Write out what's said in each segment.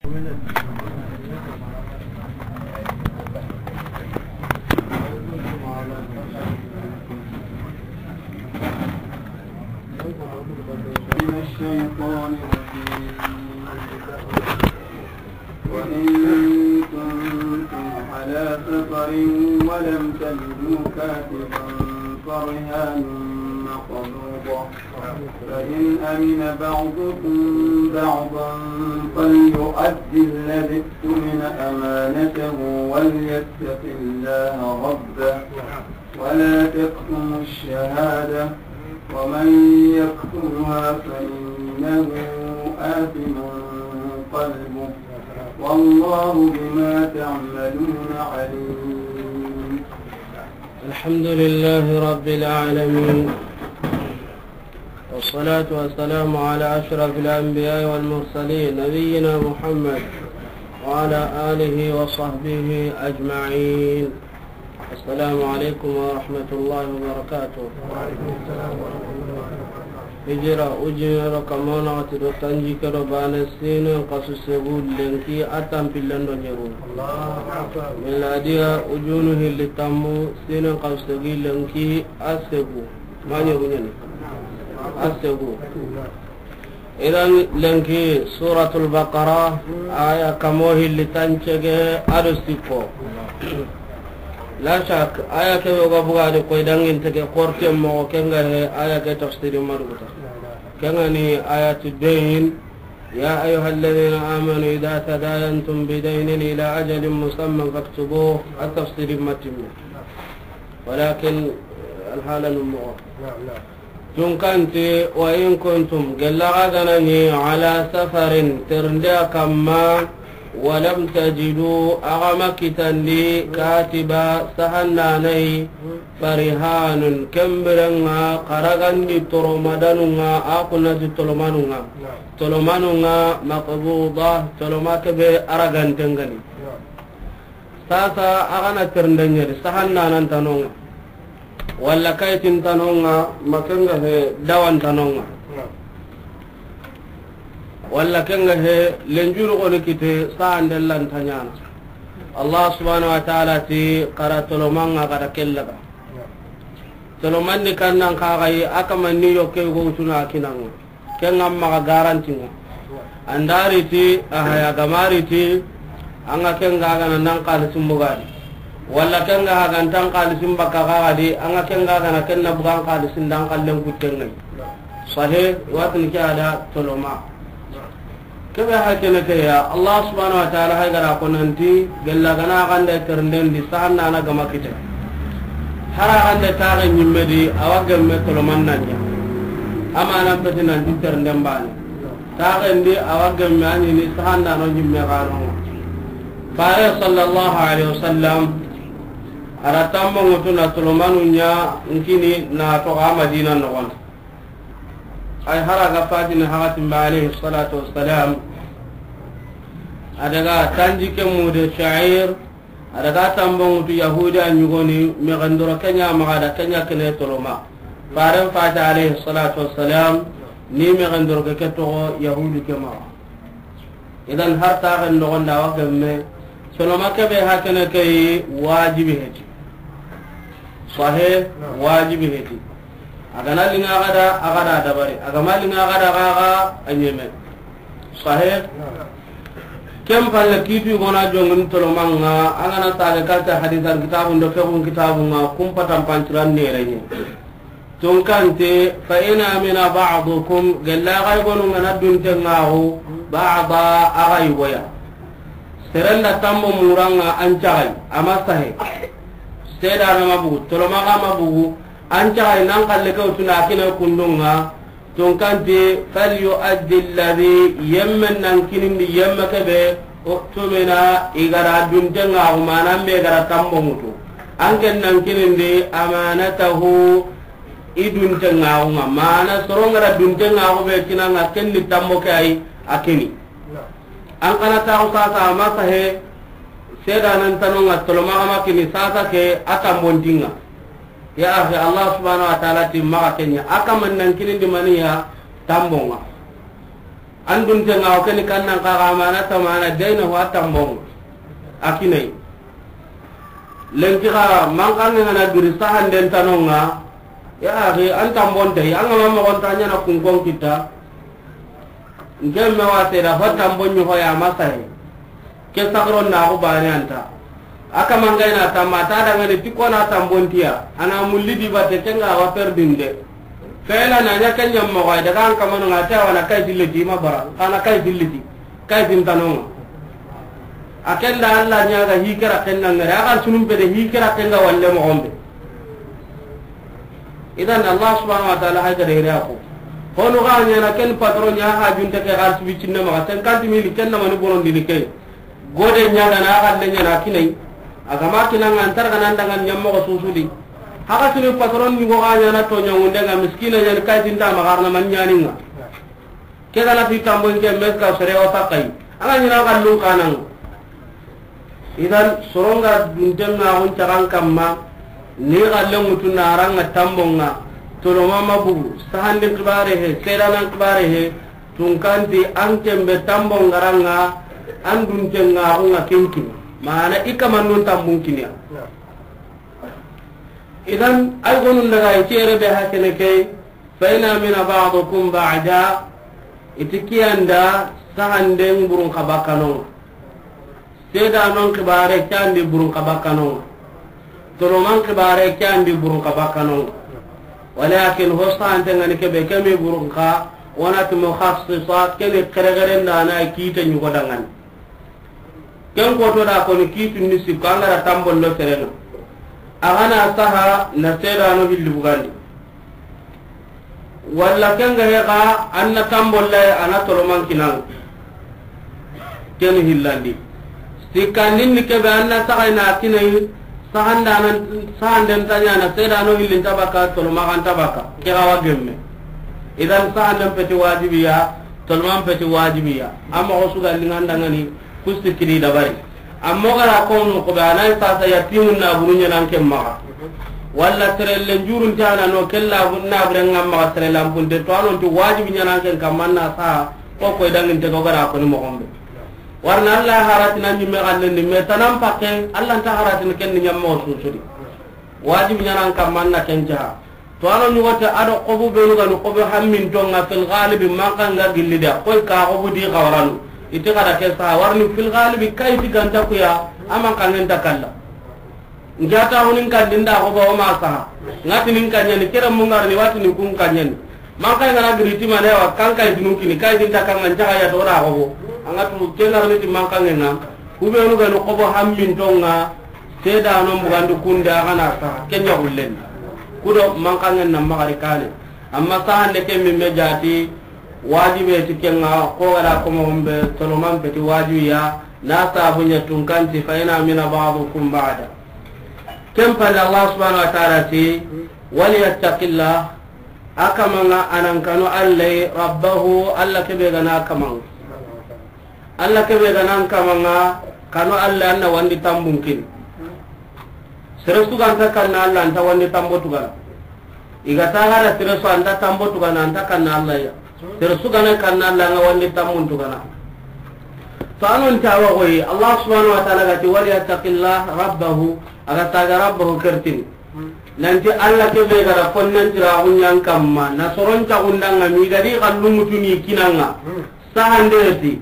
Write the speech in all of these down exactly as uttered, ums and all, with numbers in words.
من الشيطان الرجيم. وإن كنتم على سفر ولم تجدوا كاتبا فرهان مقبوضة، فإن أمن بعضكم بعضا فليؤد الذي اؤتمن أمانته وليتق الله ربه ولا تكتموا الشهادة ومن يكتمها فإنه آثم قلبه والله بما تعملون عليم. الحمد لله رب العالمين، والصلاة والسلام على أشرف الأنبياء والمرسلين نبينا محمد وعلى آله وصحبه أجمعين. السلام عليكم ورحمة الله وبركاته. Hijira ujunero kamona wati do tanji kero bane sine kasu segu lenki atan pillando nyeru. Miladiya ujunu hilli tammu sine kasu segi lenki asegu. Manye bunyani. Asegu. Idan lenki Suratul Baqara aya kamo hilli tancege ado sikko. La shak aya ke yoga buga de koy dangin tege korte mo kenga he aya ke tafsiri maduguta. Kenga ni ayatu dayn. يا أيها الذين آمنوا إذا تداينتم بدين إلى أجل مسمى فاكتبوه. التفسير متم. Walakin alhala num moxo. Naam, naam. Tunkanti, wa in kuntum, gella xa gana ni, ala safarin, ternde a kamma, walam tajidu, axa ma kitandi, katiba, sahannanai, farihanun, kembirenga, xaragandi toromadanunga, a kunati tolomanunga. Naam. Tolomanunga, maqbuda, toloma kebe aragantengani. Naam. Sasa a gana ternden ɲeri, sahannanan tanonga, walla kayitin tanonga, ma kenga he dawan tanonga, walla kenga he lenjuru goni kite sahanden lanta ɲana. Allah subhanahu wa ta'ala ti, xara tolomanga gada kellaga. Tolomanni kannan kaxayi, a kamanni yokke yugo wutuna kinanga. Kenga maxa garantinga. Andariti, ahaya gamariti, anga kenga gana nan xalisin bugadi. Walla kenga hagantan xalisin bakka kaxadi, anga kenga gana kenna bugan xalisin dan xallen kuttengai. Sahe, watini ke ada toloma. Kebe hakene ke ya, Allah subhanahu wa ta'ala hay gara ko nanti, gella gana gande ternden di, sahannana gama kite. Hara gande taxe ɲimme di, awa gemme toloman nanya. Amanan peti nanti ternden bani. Taxen di, awa gemme a ɲini sahannano ɲimme gano. Fare sallallahu alaihi wasallam, ara tammo ŋutu na tolomanu ɲa nkini na toga Madina noxon. Ay hara ga fatini hakatin ba alayhi salatu wassalam. A daga tanji ke mude sha'ir, a daga tambo ŋutu Yahudi a ɲugoni, mexen doro kenya maxa da kenya kene toloma. Faren fati alayhi salatu wassalam, ni mexen doro ke, ke toxo Yahudi ke maxa. Idan har taxen noxonda wa gemme, toloma kebe hakene ke yi wajibi heti. Sahe, wajibi heti. A gana linga gada, a gada dabari. A gama linga gada gaga, a ɲeme. Sahe. Ken palle kitu gona jongun tolomanga, a gana sage katta hadisan kitabun do fiqhun kitabunga, kumpatan panciran nerenye. Tunkante, fa in amina ba'dukum, gella gay gonu ngana dunte ngaxu, ba'da, a gay goya. Serenda tambo muranga an cagay, ama sahe. Sedana ma bugu, tolomaga ma bugu, an cagay nan kalle ke wutuna kine kundunga. Tunkante, falyu'addi alladhi, yemmen nan kinindi yemme kebe, u'tumina, igara dunte ngaxu, mana mbe gara tambo mutu. An ken nan kinindi, amanatahu, i dunte ngaxunga, mana soronga da dunte ngaxu be kinanga, ken ni tambo ke ay, a kini. An kana taxu sasa, ama sahe, sedanan tanonga tolomaga ma kini, sasa ke a tambontinga. Ya akhi, Allah subhanahu wa ta'ala ti maxa kenya, a kaman nan kinindi maniya tambonga. An dunte ŋa o ke ni kannan xa ga mana tamana dayna ho a tambon ŋa. A kinayi. Lenki xa mankanŋe ŋa na giri sahanden tanonŋa. Ya axi, an tambon tayi, an ga ma moxon ta ɲaana kunkon kita. Nke me wa sere da ho tambon ɲi ho ya ma sahe. Ke sagaro na xo bane anta. A kaman ga i na tamma ta dangani ti ko na tambon tiya. A na mulli di batte ke ŋa wa perdinde. Fela na ɲa ke ɲa moxo ay daga an kamano ŋa ta wa na kay dilliti ma bara. Xa na kay dilliti. Kay din tanonŋa. A ken da Alla ɲa ga hi kera ken na ŋare. A ga sunum be de hi kera ken ga walle moxon be. Idan Allah subhanahu wa ta'ala hay gada ire a ko. Hono ga ɲaana ken patron ɲa ha junte ke ga sibi cinna maxa cinquante mille ken na mani bonon dini ke. Gode ɲa ga na ga le ɲaana kinai. A ga ma kinanŋa an tar ga nan dangan ɲa moxo susudi. Haga sunu patron ni go ga ɲaana to ɲa wunde ŋa miskina ɲa ni kay tin da ma garna man ɲaani ŋa. Ke ga na ti tambon ke meska sere o sakai. An ga ɲi na ga lun kanan. Idan soron ga dunten ŋa on cagan kamma, ni ga le mutu na ran ŋa tambon ŋa, toloma ma bugu, sahandi kibare he, sedanan kibare he, tunkanti an kembe tambon ŋa ran ŋa, an dunten ŋa on ŋa kinkin. Mana i kaman nun tambun kiniya. Idan ay gonun daga i cere be hakene ke, فإن أمن بعضكم بعضا, i ti kiyanda sahanden burun xa bakkanonŋa. Sedanon kibare kiyandi burun xa bakkanonŋa. Toloman kibare kiyandi burun xa bakkanonŋa. Walakin ho sahante ŋa ni kebe kemi burun xa, wona ti mukhassisa, keni xerexeren da na kite ɲugo dangani. Ken koto da koni kiitu ni sikko an ga da tambollo serenŋa. A ga na saha na sedano hilli bugandi. Walla ken ga he ga an na tambolla a na toloman kinanŋa. Ken hillandi. Sikkandin ni kebe an na saha na kinai sahanda nan sahanden ta ɲaana sedano hillin ta baka tolomaxan ta baka. Ke ga wa gemme. Idan sahanden peti wajibiya. Tolman peti wajibiya. Amma o suga lingandangani kusti kidi dabari. Amma o gara kono ko be anay sasa yatimun na buru ɲanan ken maxa. Walla terelle njurun tana no kella na buren ngam maxa terelle ampunte to anon ti wajibi ɲanan ken kamman na sa ko ko dangin te ko gara ko ni mo gombe. Warna Allah haratina ɲimme xallen ni me tanan pakke Allah nta haratina ken ni ɲammo susudi. Wajibi ɲanan kamman na ken jaha. To ano ɲugote ado xobu benu gani xobu hammintonŋa fil galibi mankan ga gilli da koy ka xobu di xawaranu. Iti xada ke sa warni fil galibi kay ti ganta kuya aman kangen ta kalla. Njata hunin kan dinda xobo o ma saha. Ngati nin kanyani kere mungar ni wati ni kun kanyani. Mankan ga na giri ti mane wa kan kay dinun kini kay dinta kan ngan jaga ya to da xobo. Angatu kengar ni ti mankan ngan. Kubenu gani xobo hammintonŋa. Sedanon bugandi kunde a ga na saha ken ɲa gullen. Kudo mankangen na maxari kane. Amma sahande ke min me jati wajibe ti kenŋa ko ga da ko mo be toloman peti wajibiya na sabu ɲa tunkanti fa in amina ba'dukum ba'da. Ken palle Allah subhanahu wa ta'ala ti waliyattaqillah. A kamanŋa a nan kanu Allah rabbahu Allah kebe ga na kamanŋa. Allah kebe ga nan kamanŋa kanu Allah an na wandi tambun kini. Sere su ganta kanna Allah anta wandi tambo tugana. Iga tagara sere su anta tambo tugana anta kanna Allah ya. Sere su gana kanna Allah nga wandi tambun tugana. To anon tawa goyi Allah subhanahu wa ta'ala gati waliyattaqillah rabbahu. Aga taga rabbahu kertini. Nanti Allah kebe gara konnan tira gunyan kamma na soron ta gundanga mi gadi kallu mutuni kinanga. Sahande ti,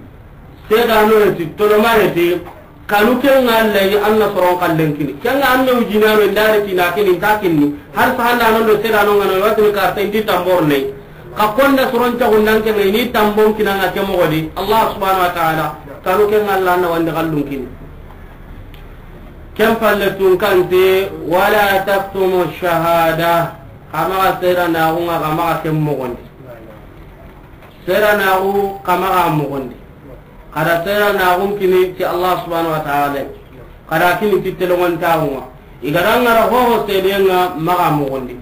sedano ti, toloma ti, kanu kenŋa Allah yi an na soron kallen kini. Kenŋa an me wujina me ndare ti na kini ta kinni. Har sahanda non do sedano ngano wati karta indi tambor ne. Ka konda soron ta gundan kenŋa ini tambon kinanga ke mogodi. Allah subhanahu wa ta'ala kanu kenŋa Allah na wandi kallun kini. Ken palle tun kante wala taktumu shahada. Kama ga sera na gunga kama ga ken mogondi. Sera na gu kama ga mogondi. Kada sera na gun kini ti Allah subhanahu wa ta'ala. Kada kini ti telongon tagunga. Igara ngara hoho sedenga maga mogondi.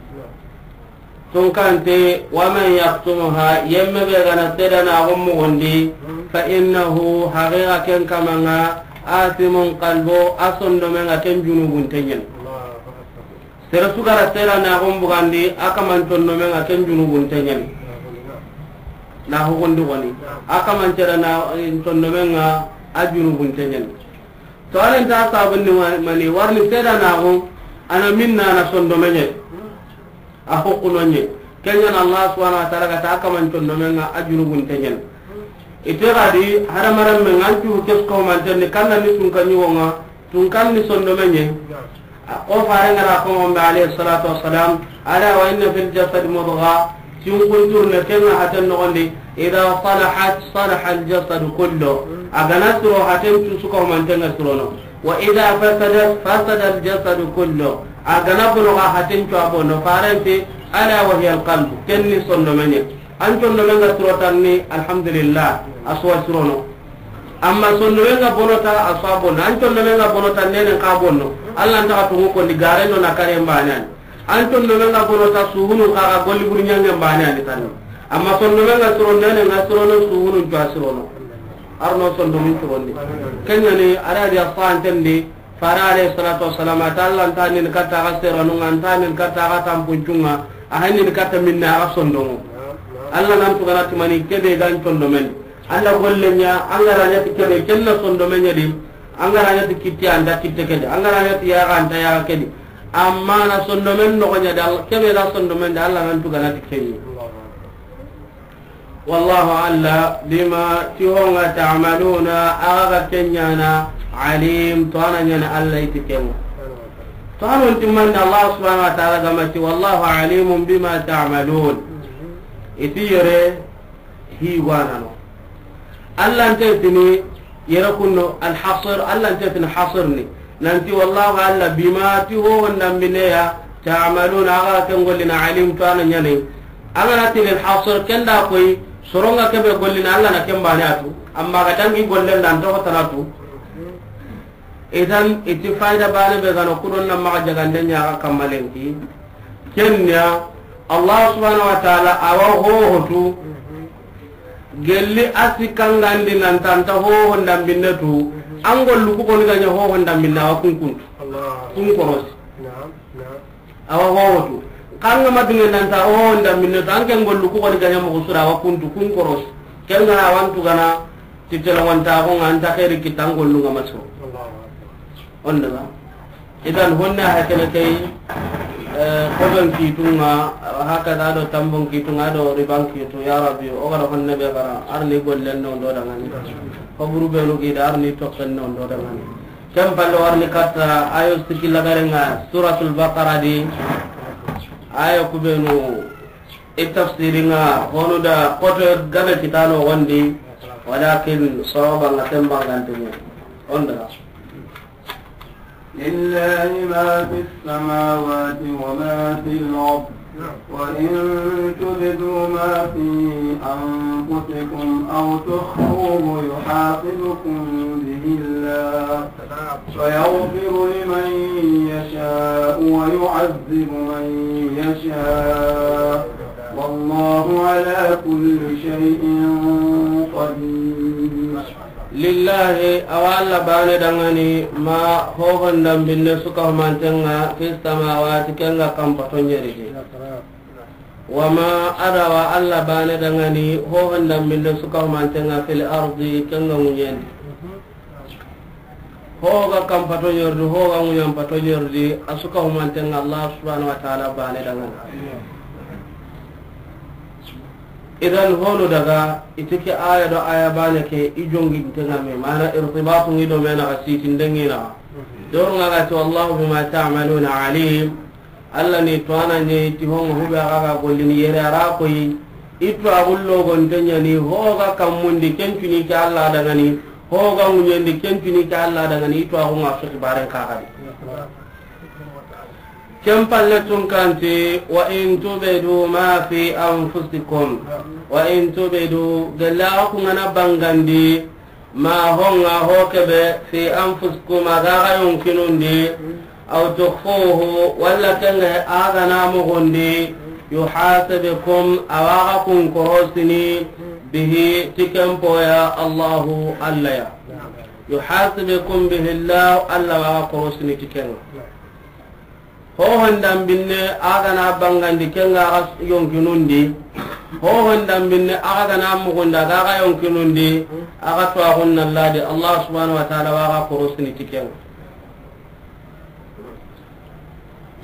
Tunkante, wa man yaktumuha, yemme be gana sedana gon mogondi, fa innahu, haqiqa ken kamanga, athimun qalbu, a sondomenga ken junubun tenyen. Sere sugara sedana gon bugandi, a kaman sondomenga ken junubun tenyen. Na hukundi goni. A kaman cere na, eh, sondomen ŋa a junubunte ɲen. To, a ren ta sabun ni wa-, mani warni seda na go, a na minna na sondomen ɲe. A hukuno ɲe. Ken ɲa na Allah subhanahu wa ta'ala ga ta a kaman sondomen ŋa a junubunte ɲen. Ite ga di hadamarenme ŋa an cu kesko manten ni kanna ni sunka ɲugo ŋa. Tun kan ni sondomen ɲe. A ko fare ŋa ra ko mo be alayhi salatu wassalam, ala wa inna fil jasad mudgha, tun kuntur ne ken ŋa haten noxondi, idha salahat, salaha al jasad kullu. A ga na siro haten cu suka manten ŋa sirono. Wa idha fasadat, fasada al jasad kullu. A ga na bono ga haten cu a bono. Faren ti, ala wa hiya al qalb, ken ni sondomen ɲe. An sondomen ŋa siro tan ni, alhamdulillah, a su wa sirono. Amma sondomen ŋa bono ta, a su wa bono. An sondomen ŋa bono ta, nenen xa bono. Allah nta xa tungu kondi, garen do na kare mbane yani. An sondomen ŋa bono ta, suhunun xa ga golli buri ɲange mbane yani tan. Amma sondomen ŋa siro, nenen ŋa sirono, suhunun cu wa sirono. Arno sondomun sirondi. Ken ɲa ni, a ra di a fanten di, Fare alayhi salatu wassalam, a ta Allah nta nin katta ga seranu ŋa, nta nin katta ga tampuncun ŋa, a hanni ni katta minna a ga sondomo. Allah nan tugana ti mani kebe gan sondomen. Allah golle ɲa, an ga ra ɲa ti kebe, ken na sondomen ɲa di, an ga ra ɲa ti kitte, an da kitte ke di, an ga ra ɲa ti yaga, an da yaga ke di. Amma na sondomen noxo ɲa di, Allah, kebe la sondomen di, Allah nan tugana ti kebe. Wallahu, Allah, bima, ti ho ŋa, ta'maluna, a ga ga ken ɲaana, alim, to a na ɲaana Allah i ti ken ŋa. To a non ti mani Allah subhanahu wa ta'ala ga ma ti, wallahu alimun bima ta'malun. I ti yere hi wa na no. Allah nte tini yere kunno alhasr, Allah nte tini hasr ni. Nanti wallahu Allah bima ti ho honda mine ya ta'maluna a ga ken gollini alim to a na ɲaana. A ga na ti lil hasr ken da koy, soro ŋa kebe gollini Allah na ken bane a tu. Amma ga dangi gollen da nto tana tu. Idan i ti fayda bane be ga no kudon na maxa jagande ɲa ga kamma lenki. Ken ɲa Allah subhanahu wa ta'ala a wa ho ho tu. Gelli a sikkangandi nan ta nta ho honda binne tu, an gollu ku koni ga ɲa ho honda binne a wa kun kuntu. Allah. Kun korosi. Naam, naam. A wa ho ho tu. Kan ga ma dunge nan ta ho honda binne tu, an ken gollu ku koni ga ɲa moxo su ra a wa kuntu, kun korosi. Ken ga na a wa n tugana ti tele wanta ko ŋa an ta xeeri kitta an gollu ŋa ma siro. Allahu akbar. On daga. Idan honne a hakene kay, eh, kodon kitunga, hakada do tambon kitunga do riban kitu, ya Rabbi, o gara honne be gara, arni gollen no do dangani. Ko buru be no gida arni tokken no do dangani. Ken pallo arni katta ayo sikki lagarenga Suratul Baqara di, ayo kubenu i tafsiringa honu da koto gabe kitano gondi, walakin sawaba nga tembangantini. On daga. لله ما في السماوات وما في الأرض، وإن تبدوا ما في أنفسكم أو تخفوه يحاسبكم به الله، فيغفر لمن يشاء ويعذب من يشاء، والله على كل شيء قدير. Lillahi, a wa Alla baane danŋani, ma hohon dambinne su ka humanten ŋa, fi samawati, ken ga kanpato ɲeri di. Wa ma, a da wa Alla baane danŋani, hohon dambinne su ka humanten ŋa, fil ardi, ken ga ŋuɲen di. Ho ga kanpato ɲeri di, ho ga ŋuɲan pato ɲeri di, a su ka humanten ŋa Alla subhanahu wa ta'ala baane danŋani. Idan honu daga, i ti ke aya do aya baane ke, i jonginten ŋa me, mana irtibatu ŋi do me naxa, sitinden ŋi naxa. Doru ŋa ga ti, wallahu bima ta'maluna alim. Alla ni tuwana ɲa i ti ho ŋa hube a ga ga gollini yere a ra koyi. I tuwa gullo gonte ɲa ni ho ga kanmun di ken cuni ke Alla danŋani, ho ga ŋuɲen di ken cuni ke Alla danŋani, i tuwa gu ŋa su xibaren ka ga di. Ken palle tun kanti, wa in tubdu ma fi anfusikum, wa in tubdu, gella ku ŋa na bangandi, ma ho ŋa ho kebe, fi anfusikum, a ga ga yonkinun di, aw tukhfuhu, walla ken ga a ga na moxon di, yuhasibkum, a wa ga kun korosini, bihi, ti ken po ya, Allahu, Alla ya. Yuhasibkum bihi Allah, Alla wa ga korosini ti ken ŋa. Hohon dambinne a ga na bangandi ken ŋa a ga yonkinun di. Hohon dambinne a ga na muxunda ga a ga yonkinun di. A ga tuwaaxun na ladi Allah subhanahu wa ta'ala wa ga korosini ti ken ŋa.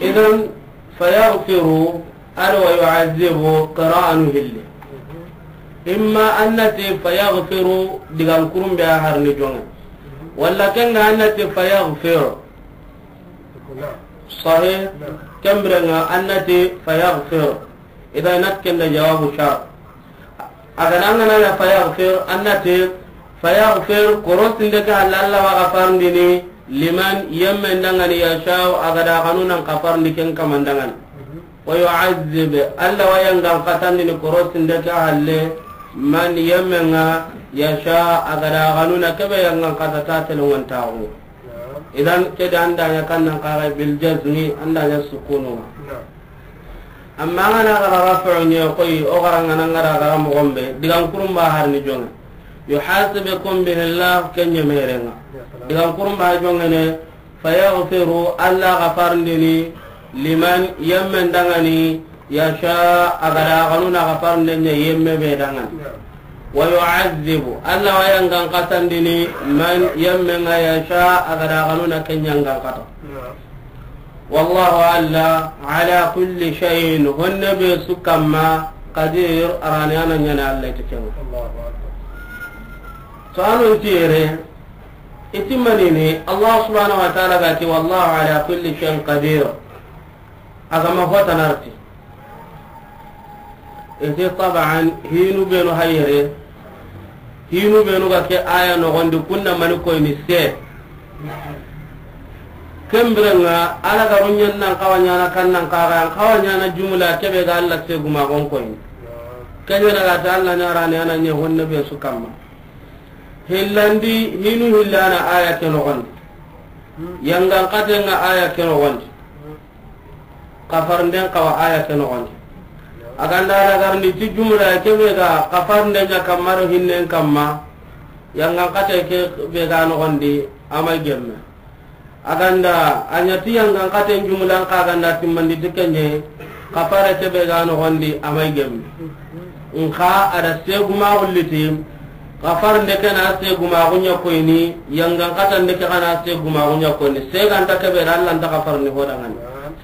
Idan, fayaghfiru, a do wa yu'azzibu, qira'anu hilli. Imma an na ti fayaghfiru, digan kurumbe a harni jonŋe. Walla ken ŋa an na ti fayaghfir. Sahih. Ken biren ŋa an na ti fayaghfir. Idan, a na ti ken da jawabu shart. A ga na ŋa na ya fayaghfir, an na ti fayaghfir, korosinde ke halle Allah wa xafarindini, liman, yemmen danŋa ni, yasha'u, a ga da xanu nan xafarindi ken kaman danŋa ni. Wa yu'azzib, Allah wa yangan xatandini korosinde ke halle, man, yemmen ŋa, yasha, a ga da xanu na kebe yangan xata ta telongon taxu. Idan, ke da an da ɲa kan nan xaxa bil jazmi, an da ɲa sukunu. Amma an ga na xara rafu ɲe koyi, o xara ŋa na ŋa ra xara moxon be, digan kurumba harni jonŋe. Yuhasibukum bihi Allah, ken ɲe merenŋa. Digan kurumba jonŋe ne, fayaghfiru, Allah xafarindini, liman, yemmen danŋa ni, yasha, a ga da xanu na xafarinde ɲa yemme be danŋa ni. Wa yu'azzibu, Allah wa yangan xatandini, man, yemmen ŋa, yasha, a ga da xanu na ken yangan xata. Wallahu, Allah, ala kulli shay'in, honne be su kamma, qadir, a ra ni a na ɲaana Allah ti ken ŋa. To a no nti yere, i ti manini, Allah subhanahu wa ta'ala ga ti, wallahu ala kulli shay'in qadir. A ga ma hota na riti. I ti taban, hinu benu hayere, hinu benu ga ke aya noxondi, kunna mani koyini se. Ken biren ŋa, Alla ga ruɲen nan xawa ɲaana, kan nan xawa, an xawa ɲaana jumla kebe ga Alla segumaxon koyini. Ken ɲa na ga ta Alla ɲa ra ni a na ɲa honne be su kamma. Hillandi, hinu hillana aya ke noxondi. Yangan xaten ŋa aya ke noxondi. Xafarnden xawa aya ke noxondi. A ga nda lagarndi ti jumla kebe ga xafarnden ɲa kamma do hinnen kamma, yangan xate kebe ga noxondi, a ma gemme. A ga nda a ɲa ti yangan xaten jumlan xa ga nda timmandi ti ken ɲa, xafare kebe ga noxondi, a ma gemme. Nxa a da segumaxu liti, xafarnde ke na segumaxu ɲa koyini, yangan xatande ke xa na segumaxu ɲa koyini. Seganta kebe da Alla nta xafarni ho dangani.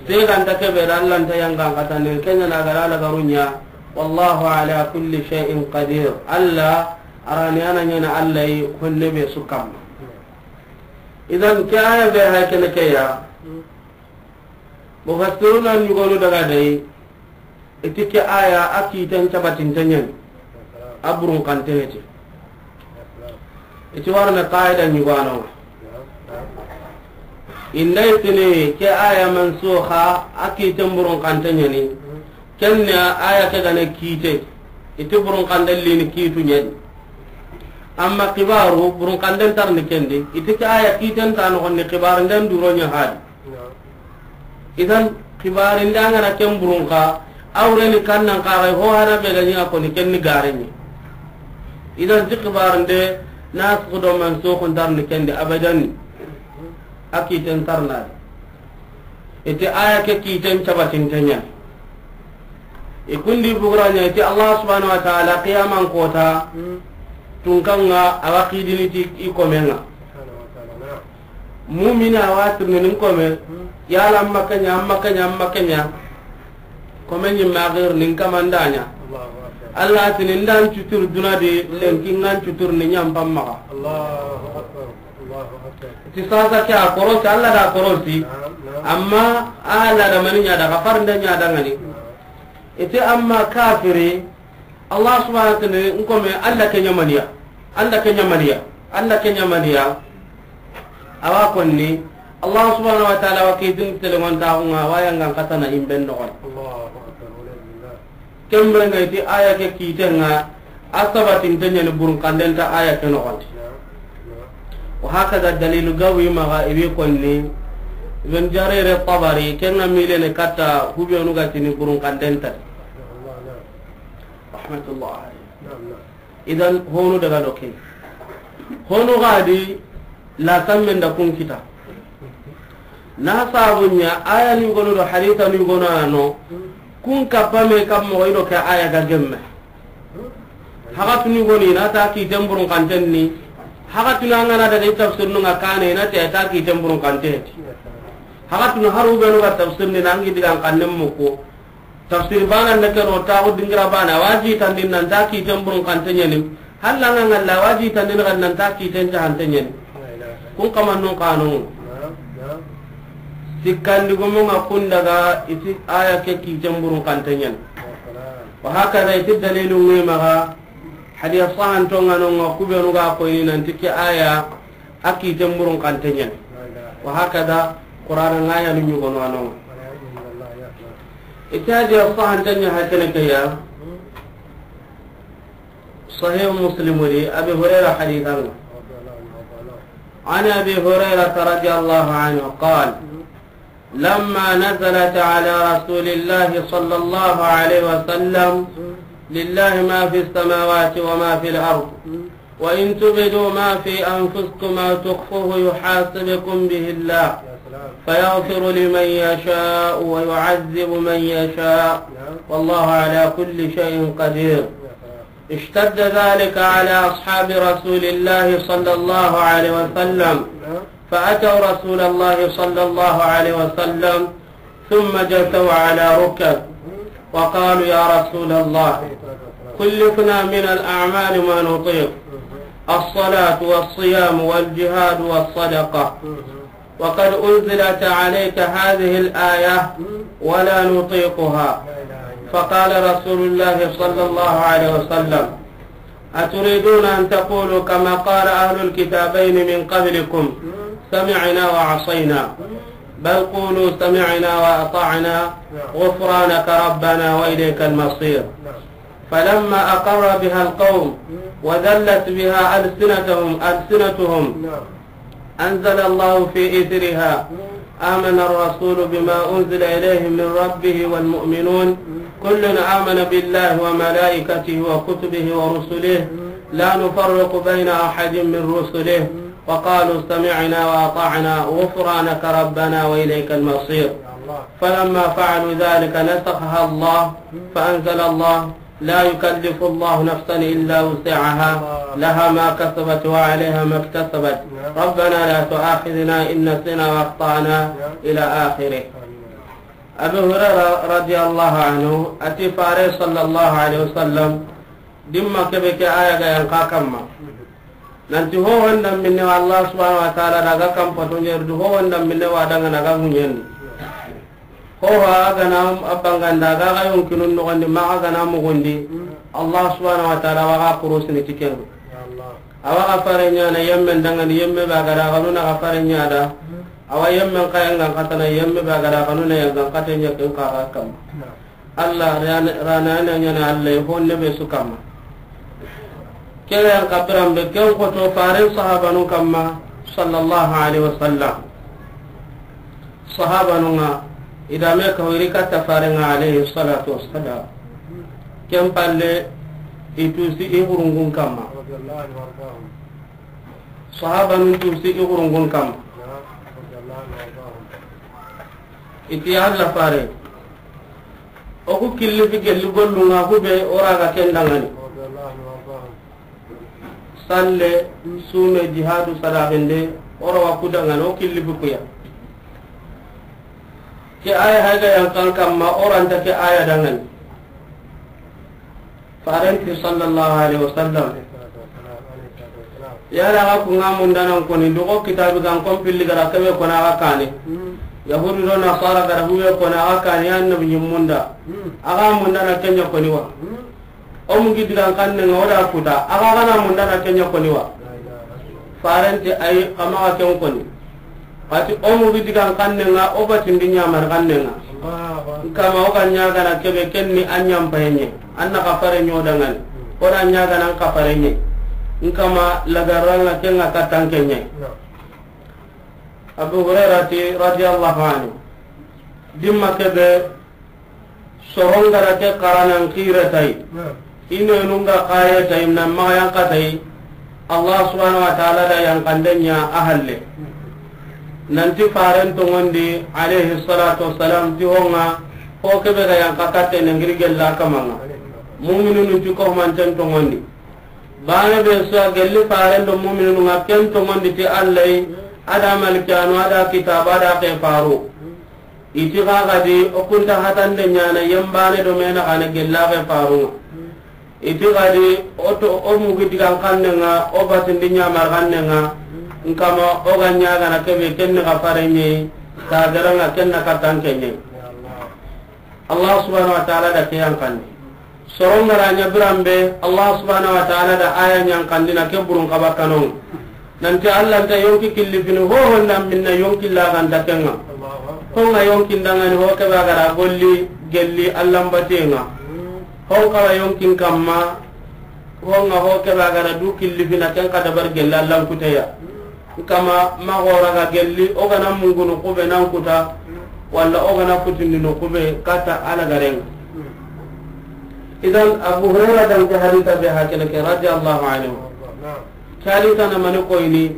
Seganta kebe da Alla nta yangan xatande, ken ɲa na ga ra lagaru ɲa. Wallahu ala kulli shay'in qadir. Alla, a ra ni a na ɲaana Alla yi honne be su kamma. Idan ke aya be hay kene ke ya. Mufassiruna ɲugonu daga dai, i ti ke aya a kiten cabatinte ɲani, a burunxante heti. I ti warne qaida ɲugano. Inda i tini ke aya mansuxa, a kiten burunxante ɲani. Ken ɲa aya ke ga na kite, i ti burunxanden lini kitu ɲani. Amma xibaru burunxanden tarni kendi, i ti ke aya kiten ta noxondi, xibarunden duro ɲa hadi. Idan, xibarinde a ga na ken burunxa, a wureni kan nan xaxay ho hana be ga ɲi a koni ken ni gareni. Idan, ti xibarinde nasikhu do mansukhu ntarni kendi abadan. A kiten tarnadi. I ti aya ke kiten cabatinte ɲani. I kundi bugura ɲa, i ti Allah subhanahu wa ta'ala qiyaman kota, tunkan ŋa a wa xidini ti i komen ŋa. Mumina a wa tirni nin kome, yala amma ke ɲa, amma ke ɲa, amma ke ɲa. Kome ɲi ma gir nin kamanda ɲa. Alla tini ndan cutur duna di, lenki ngan cutur ni ɲampam maxa. Ti sasa ke a korosi, Alla da korosi. Amma Alla da mani ɲa da, xafarnde ɲa dangani. I ti amma kafiri, Allah subhanahu wa ta'ala, n kome, Alla ke ɲa maniya, Alla ke ɲa maniya, Alla ke ɲa maniya. A wa konni, Allah subhanahu wa ta'ala wa kitin telemontaxu ŋa, wa yangan xatana imben noxon. Ken bire ŋa i ti aya ke kiten ŋa, a sabatinte ɲani burunxanden ta aya ke noxondi. Wa hakada dalilu gawi maxa i wi konni, Ibn Jarir Tabari, ken ŋa milene katta hubenu ga tini burunxanden ta. Rahmatullah alayhi. Idan, honu daga do ke. Honu gadi la sammen da kun kita. Na sabu ɲa, aya ni gono do hadisa ni gono ano, kun kapame kam mo ido ke aya ga gemme. Hakatuni goni na ta kiten burun kanten ni. Hakatuni an ga na daga i tafsir nu nga kane na ta, ta kiten burun kante. Hakatuni haru be no ga tafsir ni nangi digan kannen mo ko. Tafsir bana na kero ta ko dingira bana waji tandin nan ta kiten burun kante ɲani. Halla nga ngalla waji tandin kan nan ta kiten jahante ɲani. Kun kama nun kanu. Sikkandi gomo nga kun daga iti aya ke kiten burun kante ɲani. Wa hakada iti dalilu ngi maga. Hadiya sahan to nga no nga kubenu ga ko ini nanti ke aya a kiten burun kante ɲani. Wa hakada Qur'ana nga ya nu ɲugono anonga. Ita hadiya sahan tanya hakene ke ya. Sahih Muslim di Abi Hurairah hadithan. عن أبي هريرة رضي الله عنه قال: لما نزلت على رسول الله صلى الله عليه وسلم: لله ما في السماوات وما في الأرض، وإن تبدوا ما في أنفسكم أو تخفوه يحاسبكم به الله، فيغفر لمن يشاء ويعذب من يشاء، والله على كل شيء قدير. اشتد ذلك على أصحاب رسول الله صلى الله عليه وسلم، فأتوا رسول الله صلى الله عليه وسلم، ثم جثوا على ركب، وقالوا: يا رسول الله، كلفنا من الأعمال ما نطيق، الصلاة والصيام والجهاد والصدقة، وقد أنزلت عليك هذه الآية ولا نطيقها. فقال رسول الله صلى الله عليه وسلم: أتريدون أن تقولوا كما قال أهل الكتابين من قبلكم: سمعنا وعصينا؟ بل قولوا: سمعنا وأطعنا، غفرانك ربنا وإليك المصير. فلما أقر بها القوم وذلت بها ألسنتهم، ألسنتهم، أنزل الله في إثرها: آمن الرسول بما أنزل إليه من ربه والمؤمنون، كل آمن بالله وملائكته وكتبه ورسله، لا نفرق بين أحد من رسله، وقالوا: سمعنا وأطعنا، غفرانك ربنا وإليك المصير. فلما فعلوا ذلك نسخها الله، فأنزل الله: لا يكلف الله نفسا إلا وسعها، لها ما كسبت وعليها ما اكتسبت، ربنا لا تؤاخذنا إن نسينا وأخطأنا، إلى آخره. Abu Hurairah radiyallahu anhu a ti Faare sallallahu alaihi wasallam, dimma kebe ke aya ga yanqa kamma. Nanti ho honda minne wa Allah subhanahu wa ta'ala daga kam pato ɲerdu, ho honda minne wa daga na ga munyen. Ho ha gana abanganda ga ga yonkinun no gandi ma ga na mugundi. Allah subhanahu wa ta'ala wa ga kurusini tikendu. Awa ga farenya na yemmen dangani yemme ba ga da ga nuna ga farenya da. Awa yemmen kayan gan katana yemme ba ga da ga nuna yan gan katanya kin ka ga kam. Allah rana, rana na ɲana Allah honne be su kamma. Kere yan kabiran be ken ko to Faaren sahabanun kamma sallallahu alaihi wasallam. Sahabanun nga idame ka wiri katta Faaren nga alaihi salatu wassalam. Ken palle i tusi i hurungun kamma. Sahabanun tusi i hurungun kamma. Iti Allah Faare. O ku killi fi gelli gollun ŋa ku be o ra ga ken dangani. Salle, sume, jihadu, sadaqinde, o ra wa ku dangani, o killi fi ku ya. Ke aya haga yan kan kamma o ra nta ke aya dangani. Faaren ti sallallahu alaihi wasallam. Yala ga ku ŋa munda nan koni, dogo kitabi gan kon pilli gara kebe kona ga kane. Yahudu do Nasara gara hube kona ga kane, ya annabi ɲimmunda. A ga munda na kenya koni wa. O mu gi digan kanne ŋa o da kuta. A ga gana munda na kenya koni wa. Faaren ti ayi, kama ga ken koni. Kati o mu gi digan kanne ŋa, o batindi ɲamar kanne ŋa. Nkama o ga ɲagana kebe kenni a ɲampaye ɲe. An na ka fare ɲo dangani. O da ɲagana an ka fare ɲe. Nkama lagaranga kenga katanke ɲe. Abu Hurairah ti radiyallahu anhu. Dimma kebe Soron gara ke karanan kire tay. Ine nunga kaye tay, nan maga yanka tay. Allah subhanahu wa ta'ala da yankanden ɲa a halle. Nanti faren tongondi, alayhi salatu wassalam, ti honga, ho kebe ga yanka katte ne ngiri gella kamanga. Mu'minunu ti ko manten tongondi. Bane be so gelli faren do mu'minunu nga ken tongondi ti Allah, ada malikanu, ada kitabu, ada ke faru. Iti ga gadi, o kunta hatande nyana, yembane do mena gane gella ke faru. Iti gadi o to, o mugi digan kanne nga, o batindi nyamar kanne nga, nkama o ga nyaga na kebe kenne ga farenye, ka gara nga kenna katan kenye. Allah subhanahu wa ta'ala da ke yankanne. Soron gara nya birambe, Allah subhanahu wa ta'ala da aya nyankandi na ke burun kaba kanon. Nanti Allah nta yonki killi fini ho honda minna yonki la ganta kenga. Honga yonki ndangani ho kebe gara golli gelli Allah mbatenga. Hon kawa yonkin kamma, honga ho kebe gara du killi fina ken ka dabar gelli Allah kuteya. Nkama magora ga gelli, o gana mungunu kube nan kuta, wala o gana kutindinu kube kata ala garenga. Idan Abu Hurairah dan ke hadita be hakene ke radiyallahu anhu. Kali tana mani koyni,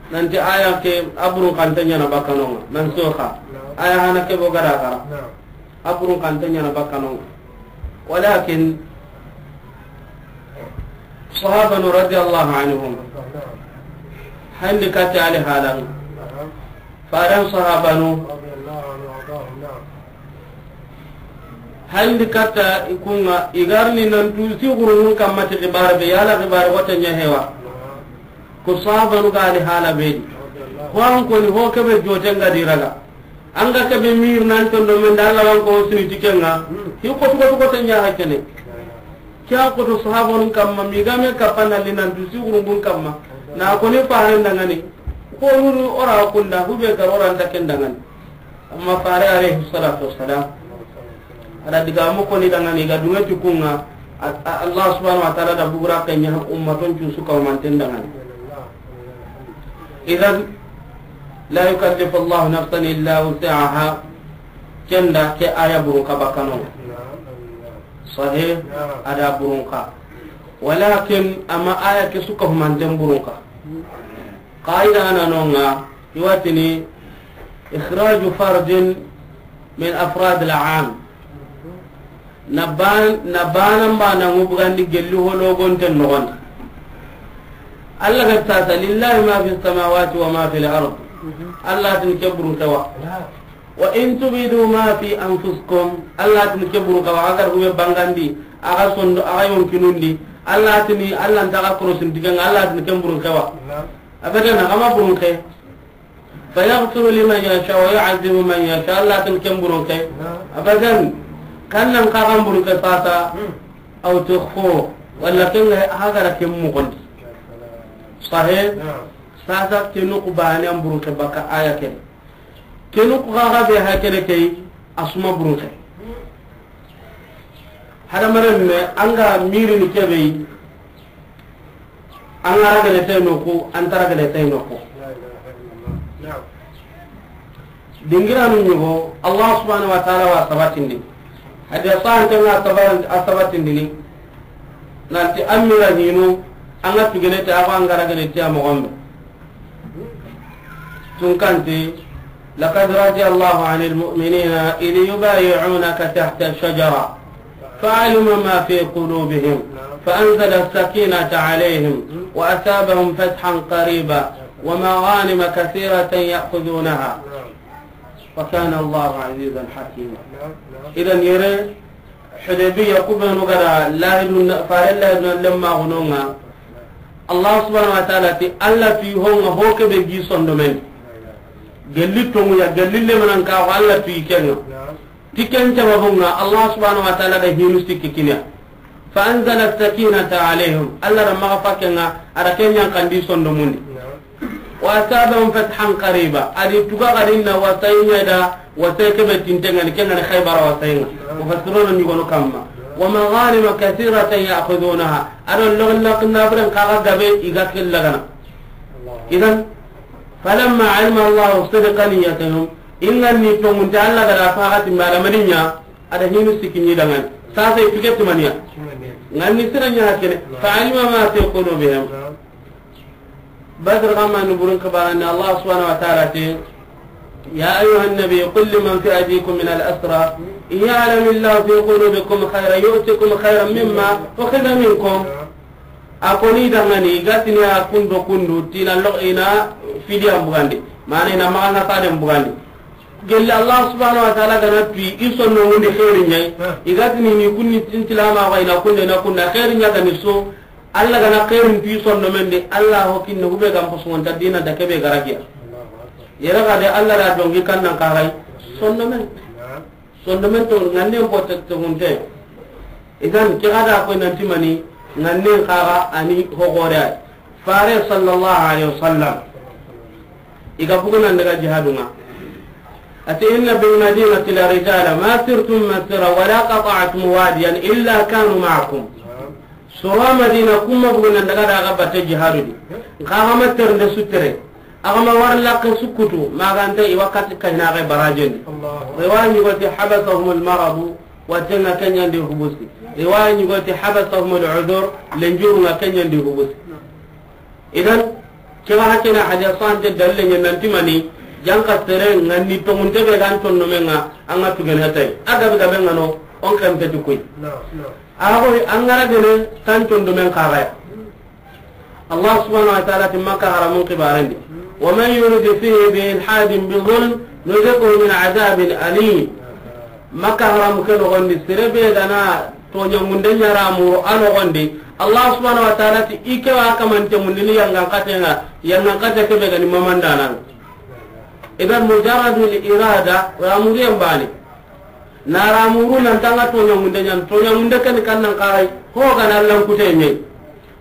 nanti aya ke aburun kante nyana bakanonga, nan soka. Aya hana ke bo gara gara. Aburun kante nyana bakanonga. Walakin, sahabanu radiyallahu anhum. Handi kate ali halan. Faran sahabanu. Handi katta ikunga, igarni nan tu si gurungun kamma ti xibar be, yala xibar wata nya hewa. Ko sahabanu ga ali hala be di. Ko an koni ho kebe joten ga diraga. Anga kebe mir nan tondo men da Allah wan ko sini tikenga. Hi ko to ko to nya hakene. Kya ko to sahabanu kamma mi game kapana linan tu si gurungun kamma. Na koni faren dangani. Ko nuru ora kunda hube garora nta ken dangani. Amma fare alayhi salatu wassalam, ada diga mo koni dangani ga dunga ti kunga, a, a, Allah subhanahu wa ta'ala da bugura kenya ummaton cu su ka manten dangani. Idan, la yukallifu Allah nafsan illa wus'aha. Kenda ke aya burun ka bakano. Sahih, ada burun ka. Walakin ama aya ke su ka manten burun ka. Qaida na nonga, iwatini, ikhraju fardin min afrad al-am. Na ban-, na bana bana ngubgandi gelli hologonten nogondi. Allah ga tata, lillahi ma fi samawati wa ma fi al-ard. Allah tin ke burun kewa. Wa in tubidu ma fi anfusikum. Allah tin ke burun kewa. Agar hube bangandi, aga sondo, aga yonkinundi. Allah tini, Allah ntaga korosin digan, Allah tin ke burun kewa. Abadan, ama burun ke. Fayaghfiru liman yasha wa yu'adhibu man yasha. Allah tin ken burun ke. Abadan. Kannan kagan burun ke sasa. Aw tukhfu. Wala ken ga hagara ken mugondi. Sahih. Sasa kenu ku bani an burun ke baka aya ken. Kenu ku gaga be hakene kay asuma burun ke. Hadamaren me, an ga mirini kebe yi, an ga ragene tay noku, an ta ragene tay noku. Dingiranu ñugo, Allah subhanahu wa ta'ala wa sabatindi. Hadi a sahante nga sabar-, a sabatindini. Nanti an mira hinu, an ga tugene te, a ko an ga ragene te a moxon be. Tunkanti, لقد رضي الله عن المؤمنين إذ يبايعونك تحت الشجرة فعلم ما في قلوبهم فأنزل السكينة عليهم وأثابهم فتحا قريبا ومغانم كثيرة يأخذونها وكان الله عزيزا حكيما. Idan yere, Hudaybiya ku benu ga da lahidun, fare lahidun lemma gunonga. Allah subhanahu wa ta'ala ti, Allah ti honga ho kebe gi sondomen. Gelli tongu ya, gelli lemanan ka ho Allah ti kenga. Ti ken sababunga, Allah subhanahu wa ta'ala da hinu sikki kiniya. Fa anzala sakinata alayhim. Allah da maga fakenga, ada kenyan kandi sondomundi. Wa asabahum fathan qariba. Adi tuga gadinna wasayinga da, wasay kebe tintengani, kengani Khaybara wasayinga. Mufassiruna ñugono kamma. Wa maghanima kathiratan ya'khudunaha. Ado lognak nabren kaga gabe iga killagana. Idan, falamma alima Allahu sidqa niyyatihim. Inganni tongunte Allah gada fagati mala maninya, ada hinu sikini dangani. Sasa ipike timaniya. Nganni siranya hakene. Fa alima ma fi qulubihim. Badr gamma ni burun kabarani Allah subhanahu wa ta'ala te. يا أيها النبي قل لمن في أيديكم من الأسرى إن يعلم الله في قلوبكم خيرا يؤتكم خيرا مما أخذ منكم. A koni dangani, i ga tini a kundo kundu, tina lo ina fidiya mbugandi. Mana ina maxa na faden bugandi. Gelli Allah subhanahu wa ta'ala ga na tuyi, i sonno mundi xeeri ɲa yi. I ga tini ni kunni tintilama wa ina kunde na kunda xeeri ɲa ga ni so. Allah ga na xeerin tuyi sonno men di, Allah ho kinne hube ga n posu nta dina da kebe garagiya. Yere ga de Allah da dongi kannan kaxay sonno men. Sondomen to ŋannen botte toxunte. Idan ke xa da koy nanti mani ŋannen xaxa ani hoxore ay. Fare sallallahu alaihi wasallam. I ga bugu nan daga jihadunga. Ati inna bil madinati la rijala ma sirtum masira wala qata'tum wadiyan illa kanu ma'akum. Soro Madina kuma bugu nan daga daga batte jihadu di. Nxa ga ma ternde sutere. Agama war lakke sukkutu, maganta i wakati kahinaxe barajendi. Riwaya ɲugoti habasahum almaradu, watenga kenyandi hubusi. Riwaya ɲugoti habasahum al'udhur, lenjurunga kenyandi hubusi. Idan, kewa hakena hadisa ante dalle ɲa nanti mani, janka sere ŋanni tongunte be gan tonno menga, anga tugene tay. Agabe gabe ngano, on kempeti kuy. Ago angara gene tan tondo men kagaya. Allah subhanahu wa ta'ala ti Makka haramun kibarendi. ومن يرد فيه بإلحاد بظلم نذقه من عذاب أليم. Makka haramu ke nogondi, sere be gana toɲa munde ɲara muru a nogondi. Allah subhanahu wa ta'ala ti i ke wa kamante mundini yangan katenga, yangan kate ke be gani mamandanan. Idan mujarradul irada, ramuriyan bani. Na ramuru nan tanga toɲa munde ɲan, toɲa munde ken kannan kaxay, ho gana Allahnkute ɲe.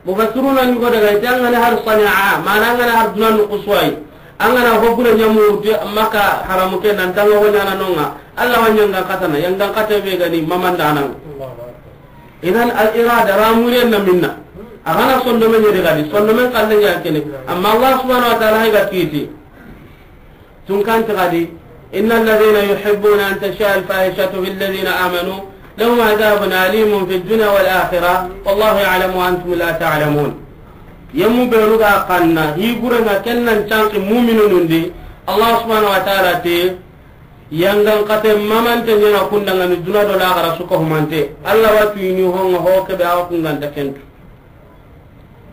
Mufassiruna ɲugo daga ite angana har sani'a, mana angana har dunan kusuwai. Angana hogure ɲamu ti Makka haramu ke nan tanga ho ɲana nonga. Allah wa ɲangan katana, yangan kate be gani mamandanan. Idan al irada ramuriyan na minna. Agana sondome ɲe daga di, sondomen kalle ɲa kene. Amma Allah subhanahu wa ta'ala hay ga kiti. Tunkanti gadi, إن الذين يحبون أن تشيع الفاحشة في الذين آمنوا لهم عذاب أليم في الدنيا والآخرة والله يعلم وأنتم لا تعلمون. Yemu benu ga kanna, higurenga kennan canki mu'minunun di, Allah subhanahu wa ta'ala te, yangan kate mamante ɲana kundangani duna do laxara suka humante. Allah wa tuyini honga ho kebe awa kunganta kentu.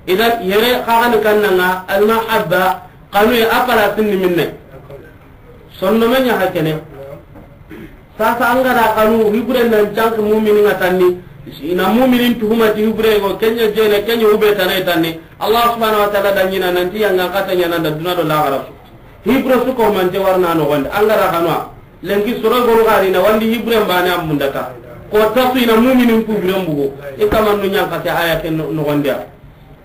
Idan yere xaxani kannanga almahabba, xanuye a palasin ni minne. Sonno me ɲa hakene. Sasa angara xanu hibure nan canki mumini nga tanni. Ina muminin tuhuma ti hibure go kenya jene kenya ube tanay tanni. Allah subhanahu wa ta'ala da ɲina nanti yangan kata ɲana da duna do laxara su. Hibure su ko mante warna no gonde angara xanwa. Lenki soro goro gari na wandi hibren bane ambundata. Ko tasu ina muminin ku biren bugo. I kamannu ɲanka ke aya ke no-, nogondiya.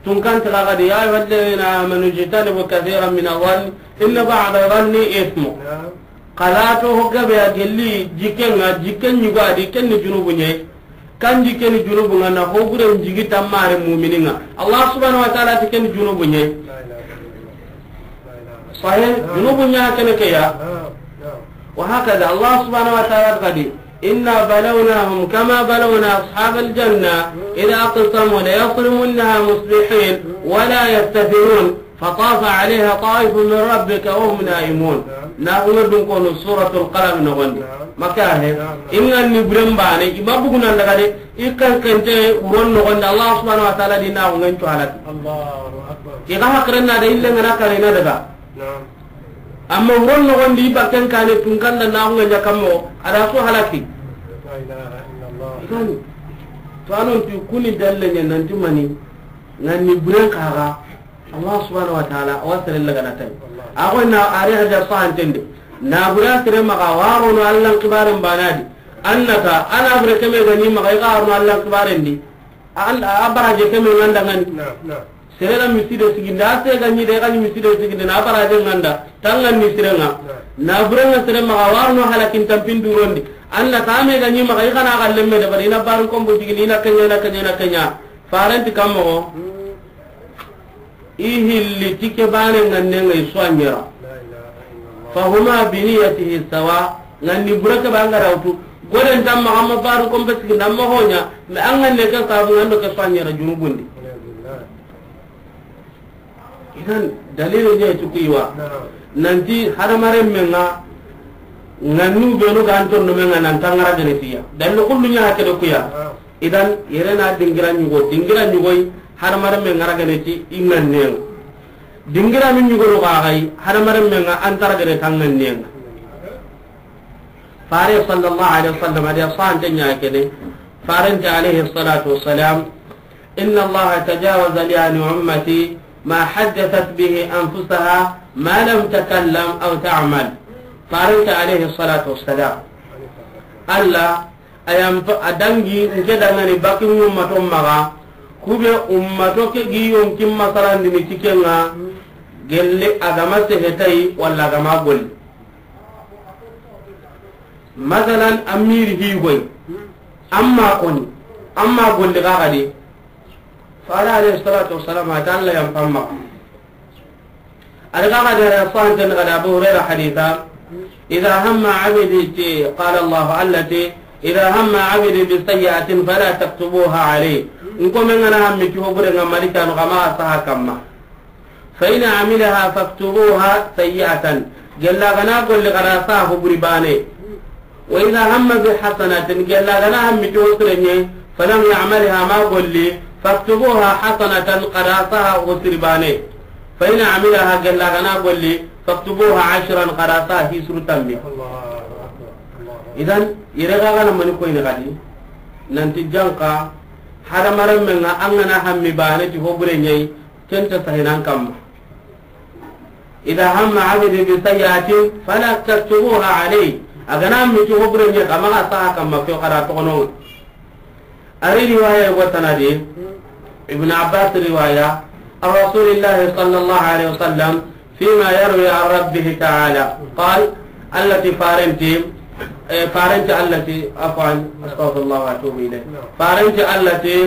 Tunkanti gagadi, يا أيها الذين آمنوا اجتنبوا كثيرا من الظن إن بعض الظن إثم. Kala to hoggabe a gelli jikenga, jiken ɲugo adi kenni junubu ɲe. Kanji keni junubu nga na hogure njigi tammare mumini nga. Allah subhanahu wa ta'ala ti keni junubu nye. Sahih, junubu nya kene ke ya. Wa hakada Allah subhanahu wa ta'ala kadi, إنا بلوناهم كما بلونا أصحاب الجنة إذ أقسموا ليصرمنها مصبحين ولا يستثنون. فطاف عليها طائف من ربك وهم نائمون. Na kuma dun kono Suratul Qalam no gonde. Maka he. Inga ni buren bane, ima bugu nan daga de, ikan kente uron no gonde Allah subhanahu wa ta'ala di na ko ngan to halaki. Allahu Akbar. Iga hakren na de ille ngana kare na daga. Amma uron no gonde iba ken kane tun kan da na ko ngan kammo, ada so halaki. La ilaha illallah. Ikan. To anon tu kuni dalle nyen nanti mani, ngan ni buren kaga. Allah subhanahu wa ta'ala, awa sere lagana tay. Ago na are haja sahantende. Na bure sere maga waro no Allah kibaren banadi. Annata, ana bure keme gani maga iga arno Allah kibaren di. An, a baraje keme nganda ngani. Sere na miside siginde, ase gani de gani miside siginde, na baraje nganda. Tangan ni sire nga. Na bure nga sere maga waro no halakin tampin durondi. Annata me gani maga iga na galle me de bari na barun kombo siginde, ina kenya, ina kenya, ina kenya. Farenti kammo. I hilli ti ke bane nganne ngai suanyera. Fahuma biniyatihi sawa. Nganni buraka banga rawtu. Goden tamma amma baru kombe sigi namma honya. Me an nganne ke sabu ngando ke suanyera junubundi. Idan dalil ne tukuiwa. Nanti hadamaren menga Ŋannu benu ga an tondomen ŋa nan ta ŋara gene ti ya. Dalli kullu ɲa hakene ku ya. Idan, yere na dingira ɲugo, dingira ɲugoy, hadamarenme ŋara gene ti i ŋannen ŋa. Dingira min ɲugo no ga ga yi, hadamarenme ŋa an tara gene ta ŋannen ŋa. Fare sallallahu alaihi wasallam, a di a sante ɲa kene. Farente alayhi salatu wassalam, إن الله تجاوز لي عن أمتي ما حدثت به أنفسها ما لم تكلم أو تعمل. Farente alayhi salatu wassalam, Allah a yan pa-, a dangi nke dangani baki ummato maxa, kube ummato ke gi yonkin masalandini ti ke ŋa, gelle a ga ma sehe tayi walla a ga ma golli. Masalan, a miri higoy, amma koni, amma golli ga gadi. Fare alayhi salatu wassalam, a ta Allah yan pamma. A daga ga da ya fahanta daga da Abu Hurairah haditha, إذا هم عبدي، قال الله التي، إذا هم عبدي بسيئة فلا تكتبوها عليه. Nko men ŋa na hammi ti hobure ŋa, malikanu ga ma saha kamma. فإن عملها فاكتبوها سيئة. Gella ga na golli, ga da saha hoburi bane. وإذا هم بحسنة، gella ga na hammi ti hosire ɲa, فلم يعملها، ma golli, فاكتبوها حسنة، ga da saha hosiri bane. فإن عملها، gella ga na golli, فاكتبوها عشرا، ga da saha hisuru tammi. Idan, yere ga ga na mani koyni gadi, nanti janka, hadamarenme ŋa an ga na hammi bane ti hobure ɲa yi, ken ta sahinan kamma. إذا هم عبدي بسيئة فلا تكتبوها عليه. A ga na mi ti hobure ɲa, a ma ga saha kamma, ke ga da toxono. A ri riwaya yogo tanadi, Ibn Abbas riwaya, عن رسول الله صلى الله عليه وسلم فيما يروي عن ربه تعالى قال، التي، farenti, eh, farenti التي، عفوا، أستغفر الله وأتوب إليه. Farenti التي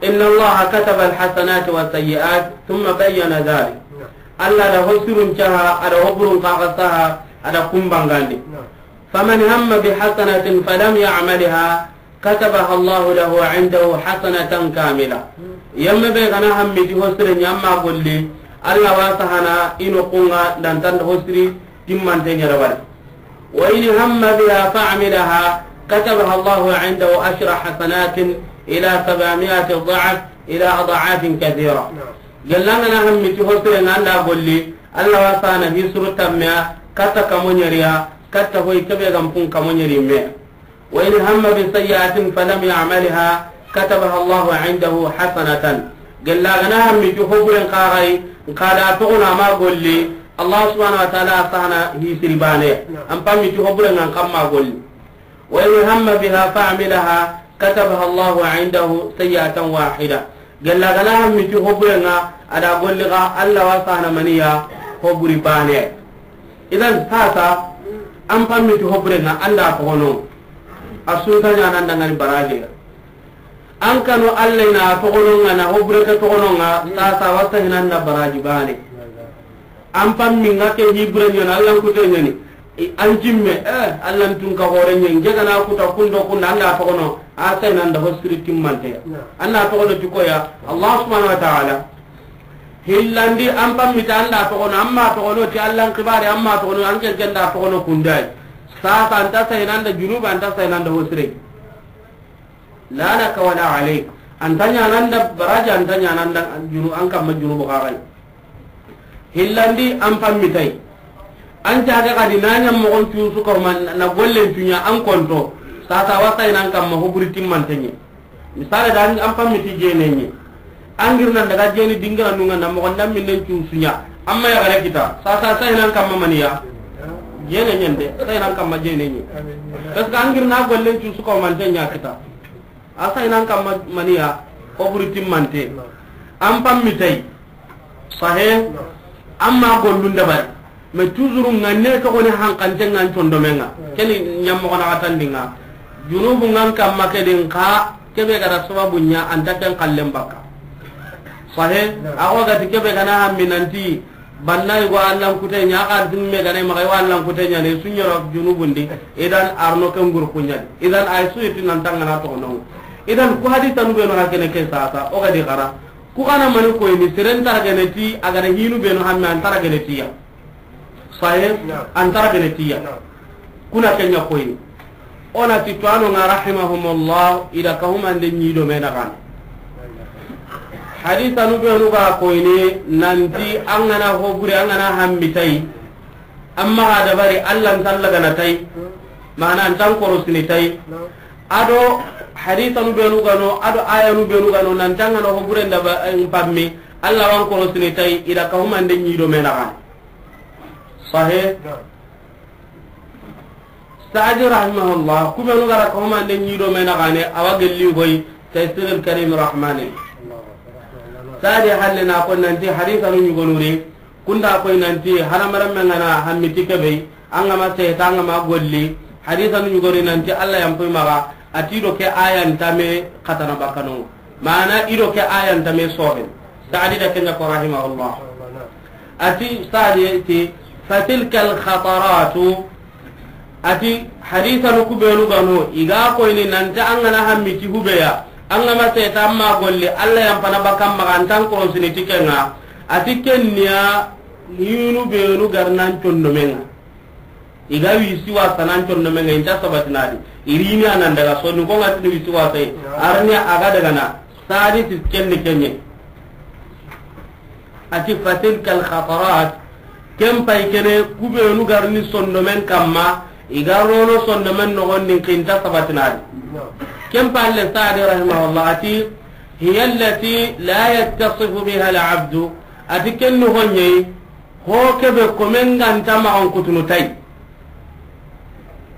إن الله كتب الحسنات والسيئات ثم بين ذلك. Allah da hosirun caha, a da hoburun kaga saha, a da kumbangandi. فمن هم بحسنة فلم يعملها كتبها الله له عنده حسنة كاملة. Yemme be ga na hammi ti hosire ɲa, a ma golli, Allah wa sahana i noxun ŋa dantan hosiri timmante ɲa da bari. وإن هم بها فعملها كتبها الله عنده عشر حسنات إلى سبعمائة ضعف إلى أضعاف كثيرة. Gella ga na hammi ti hosire ŋa, a da golli, Allah wa sahana hisuru tammiya, katta kamo ɲeriya, katta hoy kebe ga mpun kamo ɲeri me. وإن هم بسيئة فلم يعملها كتبها الله عنده حسنة. Gella ga na hammi ti hoburen kaga yi, nka da toxono a ma golli, Allah subhanahu wa ta'ala a sahana hisiri bane. An pammi ti hoburen ŋa, an kamma golli. وإن هم بها فعملها كتبها الله عنده سيئة واحدة. Gella ga na hammi ti hoburen ŋa, a da golli ga, Allah wa sahana maniya hoburi bane. Idan sasa, an pammi ti hoburen ŋa, an da toxono. A sunta ɲa nan dangani baraji. An kanu Allah na toxono ŋa, na hobure ke toxono ŋa, sasa wa sahinan da baraji bane. An pammi ŋa ke hibure ɲa na, Allah kute ɲa ni. I, an cimme, eh, Allah tun ka hore ɲa, nge ga na kuta kundo kunda, an da toxono, a sahinan da hosiri timmante. An da toxono ti koya, Allah subhanahu wa ta'ala. Hillandi an pammi ta an da toxono, an ma toxono ti Allah kibari, an ma toxono, an ken ken da toxono kundai. Sasa an ta sahinan da junuba, an ta sahinan da hosire. لا لك ولا عليك. An ta ɲaana an da baraji, an ta ɲaana an da junu, an kamma junubu kaga yi. Hillandi an pammi ta yi. An caage kadi na ɲa moxon cu su ka ma na gollen cu ɲa an konto. Sasa wa sahinan kamma hoburi timmante ɲa. Misale da an, an pammi ti jene ɲa. An giri nan daga jeni dingira nunga na moxon da minnen cu su ɲa. Amma ya gare kita. Sasa sahinan kamma maniya. Jene ɲa nde, sahinan kamma jene ɲa. Parce que an giri na gollen cu su ka mante ɲa kita. A sahinan kamma maniya, hoburi timmante. An pammi ta yi. Sahe. Amma gollun dabari. Mais toujours ŋa ne toxo ni hankante ŋa an condomen ŋa. Keni ɲammoxo na xatandi ŋa. Junubu ŋa an kamma ke din xa, kebe ga da sababu ɲa an ta ken xallen bakka. Sahe, a xo ga ti kebe ga na hammi nanti, banna i go Allan kute ɲa, a xa dimme ga na i maxa i wa Allan kute ɲa ne, su ɲoro junubundi, idan arno ken guru kuɲadi. Idan ay su yiti nan tangana toxono. Idan ku hadisanu be no ga kene ke sasa, o ga di xara. Ku xa na mani koyini, seren tara gene ti, a ga da hinu be no hammi an tara gene ti ya. Sahe, an tara gene ti ya. Kuna kenya koyini. O na ti tuwano nga rahimahumullah, i da kahumande ñi do me naxane. Hadisanu benu ga koyini nanti an ga na ho bure, an ga na hammi tayi, an maxa dabari, Alla nta Alla gana tayi, mana an nta an korosini tayi. Ado hadisanu benu ga no, ado ayanu benu ga no, nanti an ga na ho bure ndaba, eh, pammi, Alla wa an korosini tayi, i da kahumande ñi do me naxane. Sahe. Saadi rahimahullah, ku benu ga ra kahumande ñi do me naxane, a wa gelli koyi Taysirul Karim Rahmani. Saadi halle na ko nanti hadisanu ñugonu ri, kunda koyi nanti hadamarenme nga na hammi ti kebe, an ga ma seta, an ga ma golli, hadisanu ñugonu ri nanti Alla yan poy maxa, a ti do ke aya nta me xatana bakano. Mana i do ke aya nta me soxin. Saadi da kenya ko rahimahullah. A ti Saadi ti, fatilkal khataratu. A ti hadisanu ku benu ga no, i ga koyini nanti an ga na hammi ti hubeya, an ga ma seta, an ma golli, Alla yan pana bakan maxa, an nta an korosini ti kenga. A ti kenniya hinu benu ga ri nan condomenga. I ga wisi wasa nan condomenga, i nta sabatinadi. I rini a nan daga soni ko nga tini wisi wasa yi. Arni a ga daga na. Saadi ti kenni kenye. A ti fatilkal khatarat. Ken pay kene ku benu ga ri ni sondomen kamma, i ga ro no sondomen noxon di, i nta sabatinadi. Ken palle Saadi rahimahullah a ti, hiya allati la yattasifu biha al abdu. A ti ken ni honye, ho kebe komen ga nta maxan kutunu tayi.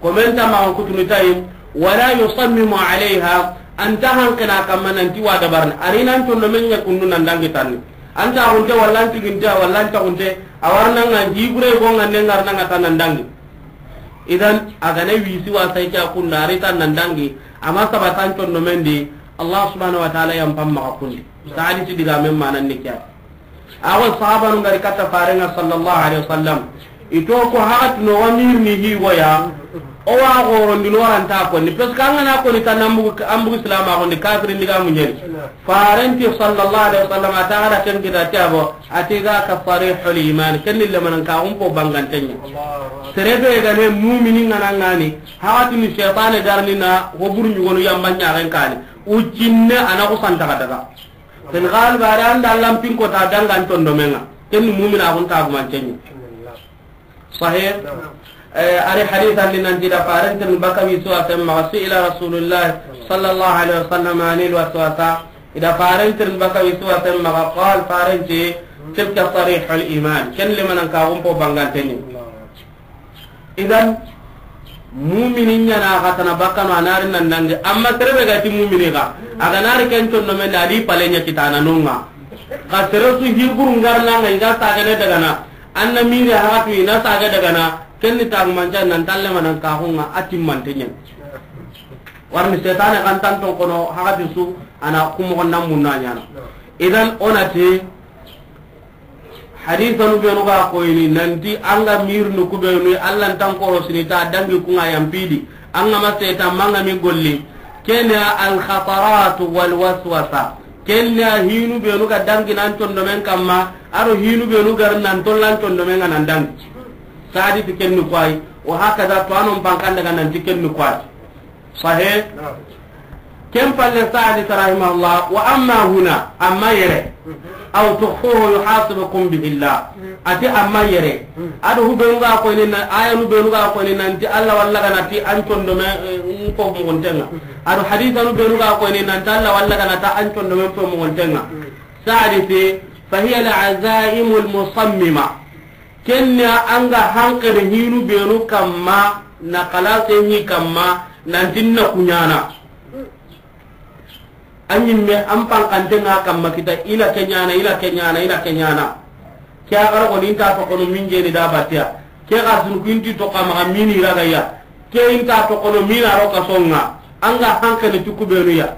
Komen nta maxan kutunu tayi, wala yusammimu alayha, an nta hanqina kamma nanti wa dabarni. A ri nan condomen ña kundu nan dangi tanni. An ta hunte, walla an tiginte, walla an ta hunte, a warna nga jibure go nga ne ngarna nga tan nan dangi. Idan, a ga na wisi wasa yi ke a kunda, a ri tan nan dangi, a ma sabati an condomen di, Allah subhanahu wa ta'ala yan pam maxa kundi. Saadi ti digamen manan ni ke ya. Awa sahabanu ngari katta farenga sallallahu alaihi wasallam. I to ko haxati no wa mirni hi goya. O wa xorondi no waranta konni. Parce que an ga na konni tan an bugu, an bugu silama konni, kafirin diga muñeni. Farenti sallallahu alaihi wasallam a ta gara ken kita ti a bo. A ti ga ka sarihul iman. Ken ni lemanan ka xumpo bangantenya. Sere be ga ne mumini nga na ngani. Haxati ni shaytane garni na ho buru ñugonu yamba ñaxen kani. Ucinne a na xusanta xa daga. Ken xaali bare an da lampin ko ta dangan condomenga. Ken ni mumina xun ta gumantenye. Sahih. Eh, ari hadith andi nanti da farentir baka wisi wasen maxa, su'ila Rasulullah sallallahu alaihi wasallam anil waswasa. Ida farentir baka wisi wasen maxa, qal farenti tilka sarihul iman. Ken lemanan ka xumpo banganteni. Idan, mumini ñana xa tana bakkano, a nari nan dangi. Amma sere be ga ti mumini xa, a ga nari ken condomen da, a di pale ña kitana nonga. Xa sere su hiburu ngarna nga, i ga sagene daga na, an na miri haxatu i na sage daga na, ken ni tagumanca nan talle manan ka xunga a timmante ñen. Warni setane xan tan ton kono haxati su, a na kumoxon nan munna ñana. Idan, o na ti, Hadisanu benu ga koyini nanti an ga mirnu ku benu, Allah ntan korosini ta dangi kunga yampidi. An ga ma setan manga mi golli. Kenya al khataratu wal waswasa. Kenya hinu benu ga dangi nan condomen kamma, aro hinu benu gar nan tollan condomen ga nan dangi. Sadi ti kenni kwai. Wa hakaza to anon bankan daga nanti kenni kwai. Sahih. Ken palle Sa'di rahimahullah, wa amma huna, amma yere, aw tukhfuhu yuhasibukum bihi Allah. Ati amma yere. Ado hubenu ga koyni na, ayanu benu ga koyni nanti Allah walla gana ti an condome, eh, ko muguntenga. Ado hadithanu benu ga koyni nanti Allah walla gana ta an condome ko muguntenga. Sa'di ti, fa hiya al-azaimul musammima. Kenya an ga hankali hinu benu kamma, na kalase ni kamma, nanti na kunyana. An yimme an pankante nga kamma kita, ila kenyana, ila kenyana, ila kenyana. Ke a gara ko ninta to kono min jeni da batia. Ke ga sun kinti to kama mini ragaya. Ke inta to kono mina ro kasonga. An ga hankali tuku benu ya.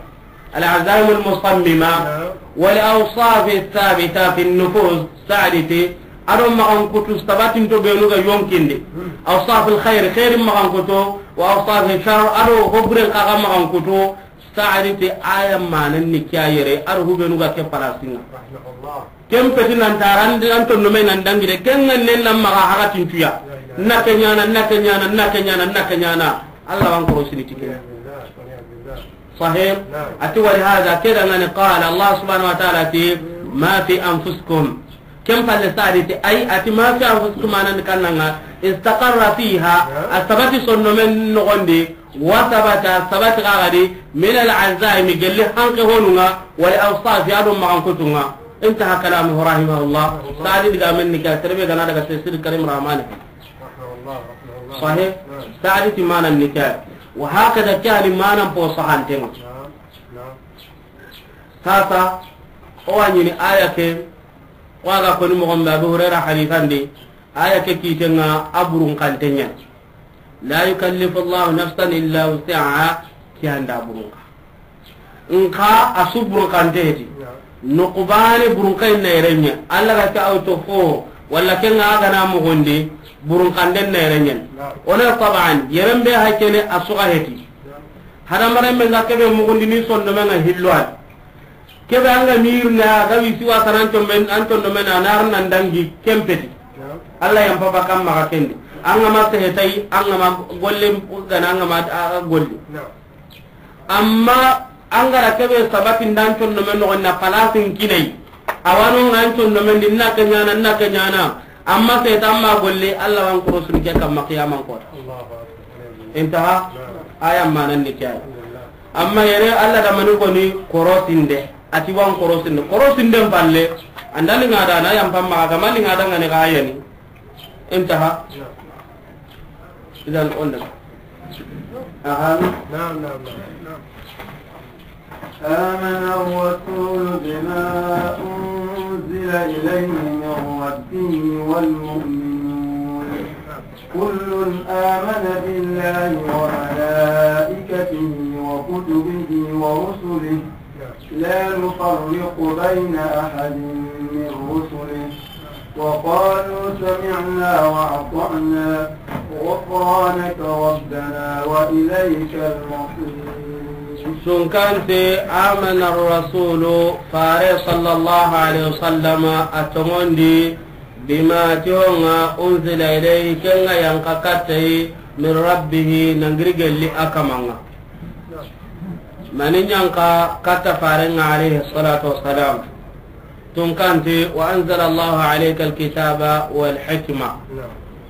Al-azaimul musammima. Wal awsaf thabita fi nufus. Sa'di ti, ado magan kutu sabatin to benu ga yonkinde. Awsaful khair, khairin magan kutu, wa awsaful shar, ado hobren kaga magan kutu. Sa'di ti aya manan ni kiya yere, ado hubenu ga ke palasinga. Ken peti nan tara an, an tonno me nan dangi de, ken ŋa nen nan maxa haga tintuya. Na ke ɲaana, na ke ɲaana, na ke ɲaana, na ke ɲaana. Alla wa an korosini ti ke. Sahih. Naam. A ti, ولهذا, ke da ŋa ni, قال, Allah subhanahu wa ta'ala ti, ما في أنفسكم. Ken palle Saadi ti, ay, a ti, ما في أنفسكم, maana ni kanna ŋa, استقر فيها, naam, a sabati sonno men noxondi, وثبت, sabati xa ga di, من العزائم, gelli hanke honu ŋa, والأوصاف, a do maxankutu ŋa. انتهى كلامه رحمه الله. Saadi digaamen ni ke, sere be ga na daga Tafsir Karim Rahmani. Sahih. Saadi ti maana ni ke. وهكذا, ke ni maana po sahanten ŋa. Sasa, o wa ɲini aya ke, o ga koni moxon be, Abu Hurayra hadisan di, aya ke kiten ŋa a burun kanten ɲa. لا يكلف الله نفسا إلا وسعها, ke an da burun ka. Nxa a su burun kante heti. Noqu baane burun kay na yere ɲa. Alla ga ta awto fo, walla ke ŋa ga na moxondi, burun kante na yere ɲa. O na taban, yere be ha ke ni a su ga heti. Hadamaren me ŋa ke be moxondi ni sonno me ŋa hillo a di. Ke be an ga mirna, ga wisi wa sanan to men, an to men anar nan dangi ken peti. Alla yampa ba kam maxa ken di. An ga ma sehe tay, an ga ma golle ga na, an ga ma, a, a golle. Amma an ga ra ke be sabati ndan to men no na palasin kinai. A wa no ŋa an to men di, na ke ɲaana, na ke ɲaana. Amma setan ma golle, Alla wa an korosini ke kamma qiyaman kota. Intaha. Aya maana ni ke ya. Amma yere Alla da mani koni korosinde. A ti wa an korosinde. Korosinden palle, an da ni ŋa da na yampa ma, a ga ma ni ŋa da ŋa ni ga yani. Intaha. Idan on da. Aha. Naam, naam, naam. آمن الرسول بما أنزل إليه من ربه والمؤمنون. كل آمن بالله وملائكته وكتبه ورسله لا نفرق بين أحد من رسله وقالوا سمعنا وأطعنا غفرانك ربنا وإليك المصير. Tunkante, آمن الرسول, Faare صلى الله عليه وسلم, a tonŋundi, بما, ti ho ŋa, أنزل إليه, ke ŋa yanqa katta a yi, من ربه, na giri gelli a kaman ŋa. Mani yanqa katta Faaren ŋa, عليه الصلاة والسلام? Tunkante, وأنزل الله عليك الكتاب والحكمة.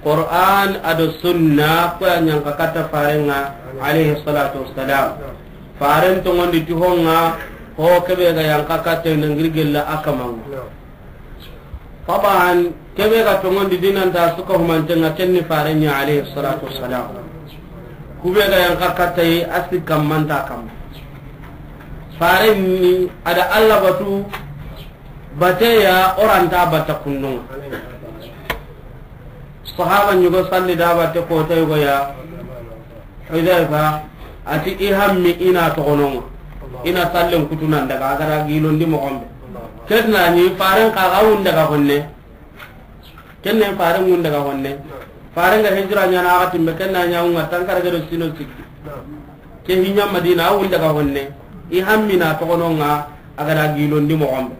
Qur'an do sunna, ku ya yanqa katta Faaren ŋa, عليه الصلاة والسلام. Faaren tonŋundi ti ho ŋa, ho ke be ga yanqa katta a yi, na giri gelli a kaman ŋa. Taban, ke be ga tonŋundi di nan ta su ka humanten ŋa, ken ni Faaren ɲa, عليه الصلاة والسلام. Ku be ga yanqa katta a yi, a si kaman ta kamma. Faaren ni a da Alla batu, bateya o ra nta batta kundu ŋa. Sahaba ɲogo salli da batte kota yogo ya. Hudayfa, a ti i hammi i na toxo no ŋa. I na sallen kutu nan daga, a ga da gilondi moxon be. Ken na ɲi Faaren xa ga wun daga honne. Ken ne Faaren wun daga honne. Faaren ga hijira ɲaana a ga timme, ken na ɲa wun ŋa tankarage do sino sikki. Ke hi ɲa Madina, a wun daga honne. I hammi na toxo no ŋa, a ga da gilondi moxon be.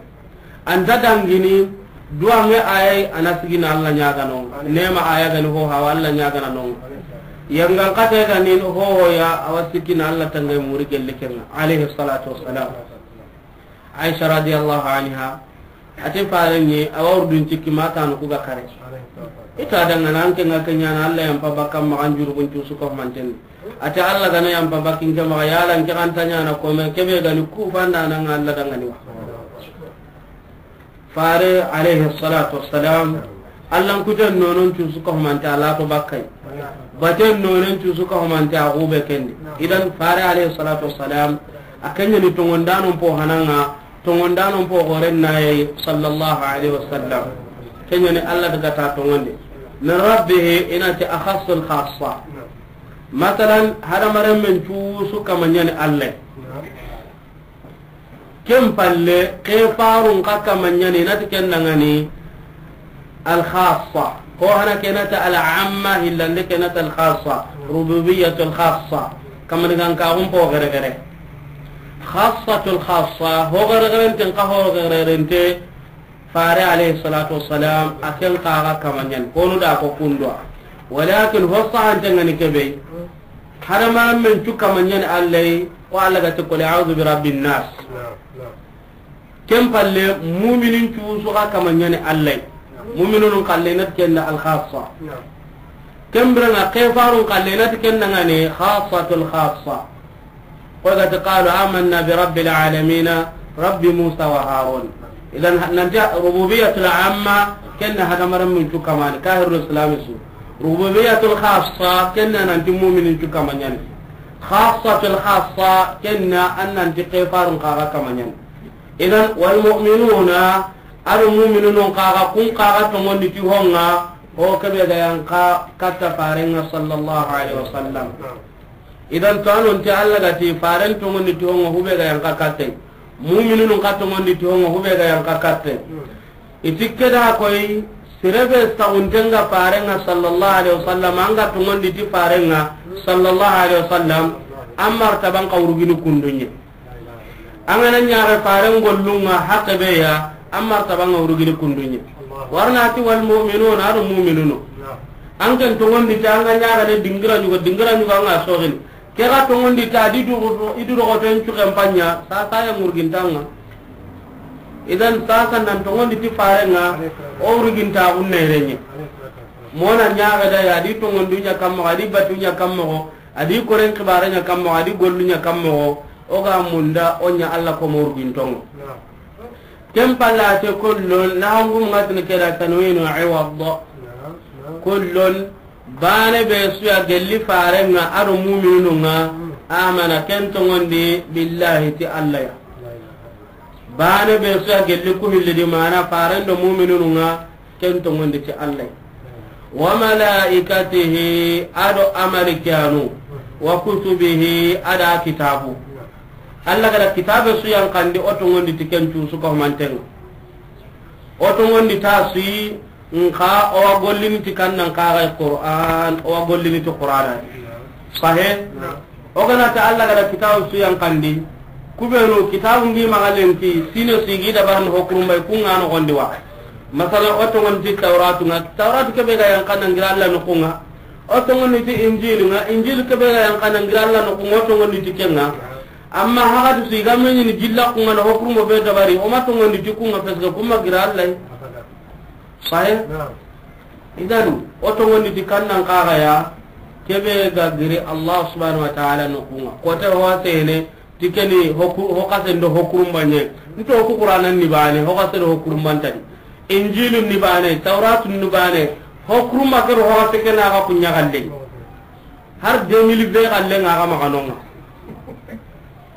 A nta dangini, duwanŋe a yi, a na sigi na Alla ɲaagana no ŋa. Neema a ya ga ni ho hawa, Alla ɲaagana no ŋa. Yangan kate ga ni ho ho ya, a wa sikki na Alla tangay muri gelli ken ŋa, عليه الصلاة والسلام. Aisha رضي الله عنها, a ti Faaren ɲi, a wa wurdun cikki ma tanu ku ga kare. I ta dangana an ke ŋa ke ɲaana, Alla yampa ba kam maxa, an jurubun cu su ka humanten di. A ti Alla ga na yampa ba kin ke maxa, yala n ke xa nta ɲaana kome, ke be ga ni ku fanda na ŋa Alla dangani wa. Faare, عليه الصلاة والسلام, Allan kuten nonon cu su ka humante a la to bakka yi. Baten nonon cu su ka humante a xube ken di. Idan Faare, عليه الصلاة والسلام, a ken ɲa ni tonŋundanon po hanan ŋa, tonŋundanon po xoren na yi, صلى الله عليه وسلم. Ken ɲa ni Alla daga ta tonŋundi. من ربه, i na ti أخص الخاصة. Masalan, hadamarenmen cu su kama ɲa ni Alla yi. Ken palle, ke farun xa kama ɲa ni, i na ti ken dangani الخاصة. Ho hana ke na ti العامة, hillande ke na ti الخاصة. ربوبية الخاصة. Kamani gan ka gum po gere gere. خاصة الخاصة, ho gere gere nten ka ho gere gere nte. Fare alayhi salatu wassalam, a ken kaga kamañani, honu da ko kundwa. Walakin ho sahante ngani kebe. Hadamarenmen cu kamañani Alla yi, ko Alla ga ti, "Qul a'udhu bi rabbin nas." Ken palle, muminin cu su ga kamañani Alla yi. Muminun kalle nat kenna al khassa. Ken birenga kefarun kalle nat kenna ngani khassatul khassa. Ko ga ti, "Qalu amanna bi rabbil alamina, rabbi Musa wa Harun." Idan, nanti rububiyatul amma, kenna hadamarenmen cu kamani, kahirul islami su. Rububiyatul khassa, kenna nanti muminin cu kamañani. Khassatul khassa, kenna an nanti kefarun kaga kamañani. Idan, wal mu'minuna, ado muminun kaga, kun kaga tongondi ti honga, o kebe ga yanka katta farenga sallallahu alaihi wasallam. Idan to anon ti Alla ga ti faren tongondi ti honga hube ga yanka katte. Muminun ka tongondi ti honga hube ga yanka katte. Iti keda koy, sirebe saguntenga farenga sallallahu alaihi wasallam, anga tongondi ti farenga sallallahu alaihi wasallam, an martaban ka urugini kundunye. An gana ñaxe faren gollunga hakke be ya, an martaban ka urugini kundunye. Warna ti wal mu'minun, ado muminunu. An ken tongondi ti anga ñaxe ne dingira ñugo, dingira ñugo anga soxini. Ke ga tongondi ta di du, i du rogoto en cuken panya, sa sa ya murgintanga. Idan sasa nan tongondi ti farenga, o urginta unne renye. Mona ñaga da ya di tongondi nya kammo, adi batu nya kammo, adi koren kibare nya kammo, adi gollu nya kammo, o ga munda o nya Alla ko mo urgintongo. Ken pallate kullun, na hangum ngatni keda tanwinu iwad. Kullun, bane be suya gelli farenga ado muminununga, amana ken tongondi billahi ti Alla ya. Bane be suya gelli ku hilli di mana farendo muminununga, ken tongondi ti Alla ya. Wa malaikatihi, ado amalikanu, wa kutubihi, ada kitabu. Alla gada kitabe su yankandi, o tongondi ti ken cu su ko mantenga. O tongondi ta su yi, nka o wa gollini ti kannan kaga Qur'an, o wa gollini ti Qur'an. Sahe? O gana ta Alla gada kitabu su yankandi, kubenu kitabu ngi maga lenki, sine su gi dabarni hokurumbay kunga no gondi wa. Masala o tongondi ti Tauratu nga, Tauratu kebe ga yankana ngira Alla no kunga. O tongondi ti Injili nga, Injili kebe ga yankana ngira Alla no kunga, o tongondi ti kenga. Amma hagati su i ga meñini jilla kunga na hokurumo be dabari, o ma tongondi ti kunga parce que kuma gira Alla yi. Sahe? Idan, o tongondi ti kannan kaga ya, kebe ga giri Allah subhanahu wa ta'ala no kunga. Kote ho sene, ti keni hoku-, ho kasen do hokurumbanye. Nto ku Qur'anan ni bane, ho kasen do hokurumbantani. Injilun ni bane, Tauratun ni bane, hokurumba kero ho kasen kena ga kunya galle. Har deux mille vingt galle nga ga maganonga.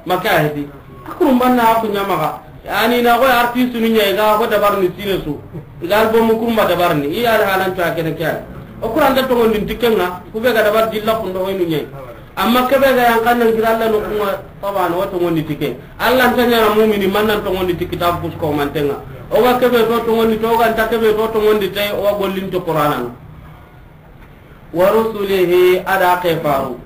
Maka hedi. Akurumban na aku nyamaga. Yani na ko artiste nu nyai ga ko dabar ni sine su. Igal bo mu kurumba dabar ni. Iya ala halan to akene kya. O Qur'an da tongondi ti kenga. Kube ga dabar dilla kundo hoynu nyai. Amma kebe ga yankan nan gira Alla no kuma. Taban o tongondi ti ke. Alla ntanya na mu'mini man nan tongondi ti kitab kus ko mantenga. O ga kebe to tongondi to ga nta kebe to tongondi te o ga gollin to Qur'anan. Wa rusulihi, ada kefaru.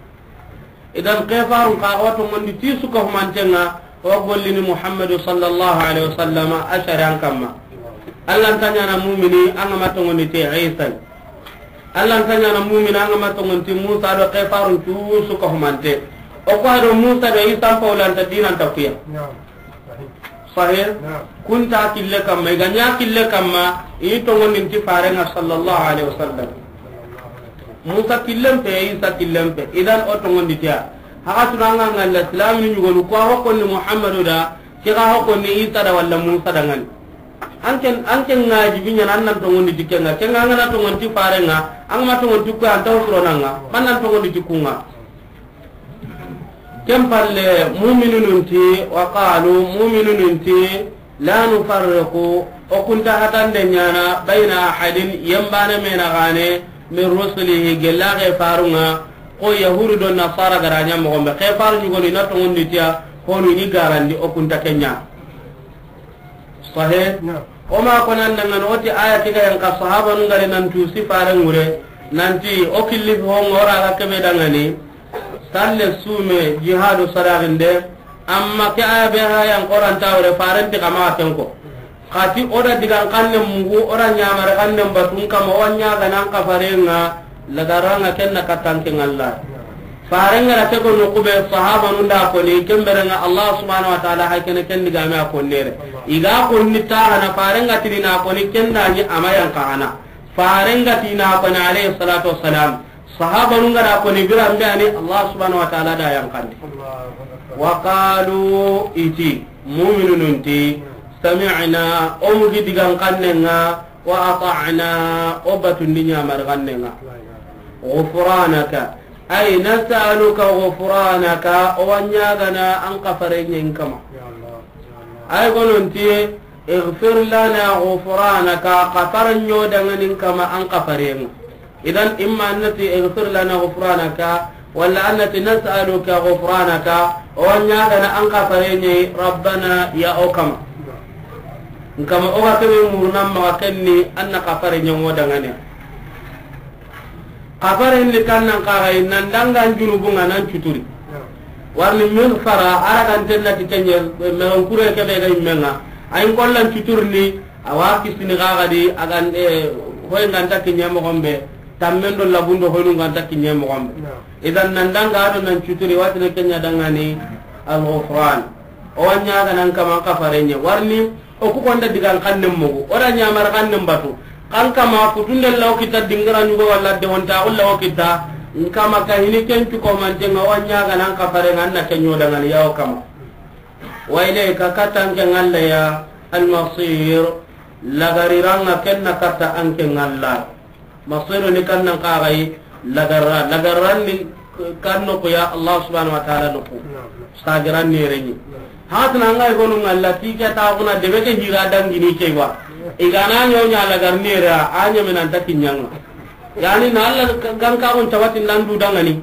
Idan kefarun ka wa tongondi ti su ka humantenga, wa gollini Muhammadu sallallahu alaihi wasallam a shari'an kamma. Alla ntanya na mu'mini an ga ma tongondi ti Isa. Alla ntanya na mu'mini an ga ma tongondi ti Musa do kefarun cu su ka humante. O ko do Musa do Isa paulanta dinanta kuya. Sahih? Naam. Kunta kille kamma, i ga ɲa kille kamma, i tongondi ti farenga sallallahu alaihi wasallam. Musa killen pe, Isa killen pe. Idan o tongondi tiya. Haga tunanga ngalla silamini ɲugonu, ko a hokonni Muhammadu da, ke ga hokonni Isa da walla Musa da ngani. Anken, anken ngaji binya nan nan tongondi ti kenga. Kenga ngana tongondi ti farenga, an ma tongondi ti ko an taw suronanga. Man nan tongondi ti kunga. Ken palle, mu'minunun ti, wa qalu, mu'minunun ti, la nufarriqu, o kunta hatande ɲana, bayna ahadin, yembane mena gane, min rusulihi, gella ke farunga, ko yahudu do nasara garanya mogombe, ke faru ɲugoni na tongondi tiya, honu ni garandi, o kunta kenya. Sahih? Naam. O ma ko nan dangan o ti aya ke ga yan ka sahaba nun gare nan tu sifare ngure, nanti o killi ho ngora ga kebe dangani, salle sume jihadu saraginde, amma ke aya be ha yan Qur'an tawre farenti kama ken ko. Xati o da digan xannen mugu, o da ɲamare xannen batun kama, o wa ɲaagana an kafarenŋa, lagaranŋa ken na katta an ke ŋa Alla. Farenŋa da ke ko noqu be, sahabanun da koni, ken berenŋa Allah subhanahu wa ta'ala hay kene ken digame a konnere. I ga konni taxana, farenŋa tini na koni, ken da ɲi a ma yanqaxana. Farenŋa ti na koni alayhi salatu wassalam. Sahabanun ga da koni biran be ani, Allah subhanahu wa ta'ala da yanqandi. Wa qalu, i ti, mu'minunun ti, sami'na, o mugi digan xannen ŋa, wa ata'na, o batundi ɲamare xannen ŋa. Ghufranaka, ay nas'aluka ghufranaka, o wa ɲaagana an kafarenɲen kama. Ay gonon ti, ighfir lana ghufranaka, kafarenɲo danŋanin kama an kafarenŋa. Idan, imma annati ighfir lana ghufranaka, walla annati nas'aluka ghufranaka, o wa ɲaagana an kafarenɲe, Rabbana, ya o kama. N kama o ga kebe muruna maxa kenni, an na kafarenɲe ŋo danŋane. Kafarenni kannan kaxayi, nan dangan junubunŋa nan cuturi. Warni mighfara, a ra ganten na ti kenɲe, meron kure kebe ga immenŋa. Ayin kollan cuturni, a wa kisini xaxadi, a gan, eh, hoy nganta kinɲe moxon be, tammen do labun do hoynu nganta kinɲe moxon be. Idan nan danga do nan cuturi, watine kenɲa dangani al-ghufran. O wa ɲaagana an kama an kafarenɲe. Warni, o ku konda digan xannen mugu, o da ɲamare xannen batu. Kan kama kutunden lawo kita dingira ɲugo walla de wonta, o lawo kita. N kama ka hini ken cu ko mantenŋa, o wa ɲaagana an kafarenŋa, an na kenɲo danŋani ya o kama. Wa ilayka, katta an ke ŋa Alla ya, al-masir, lagariranŋa ken na katta an ke ŋa Alla. Masiru ni kannan kaxayi, lagarra, lagarran ni kan noqu ya Allah subhanahu wa ta'ala noqu. Sagiran ni renɲi. Hatna an ga yi gonu ŋa Alla ti ke ta kuna debe ke hira dangini ke wa. I ga na ɲo ɲa lagar ni ra, a ɲeme nan ta kinɲanŋa. Yani na Alla ganka gon tawatin nan du danŋani.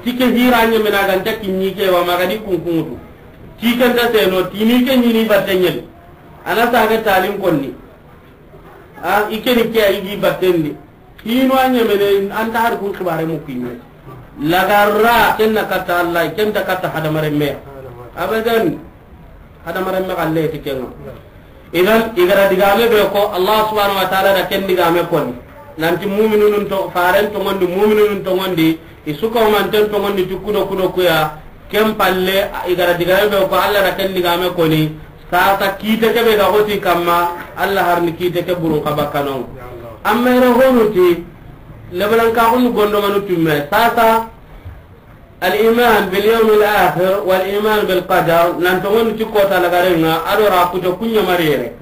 Ti ke hira ɲeme na ganta kinɲi ke wa, magadi kunkunŋutu. Ti ke nta seno, ti ni ke ɲini batteɲeli. Ana sage talin konni. A, i ke ni ke a i gi battendi. Hino a ɲemene, an ta har kun xibare mu kinɲe. Lagarra, ken na katta Allah, ken ta katta hadamaren me. Abadan. Hadamaren me xalle ti kenŋa. Idan, i ga ra digame be ko, Allah subhanahu wa ta'ala da ken digame koni. Nanti mu'minunun to, faren tonŋondi, mu'minunun tonŋondi, i su ko manten tonŋondi ti kudo kudo kuya, ken palle, i ga ra digame be ko, Allah da ken digame koni, sasa kite ke be ga xoti kamma, Allah har ni kite ke burun xa bakka no. Amma i ra honu ti, lebalan ka xunu gondo manu tumme, sasa, Al-iman bil yawmil akhir wal iman bil qadar, nan tonŋondi ti kota lagarenŋa, a do ra kuto kuɲa mariyere.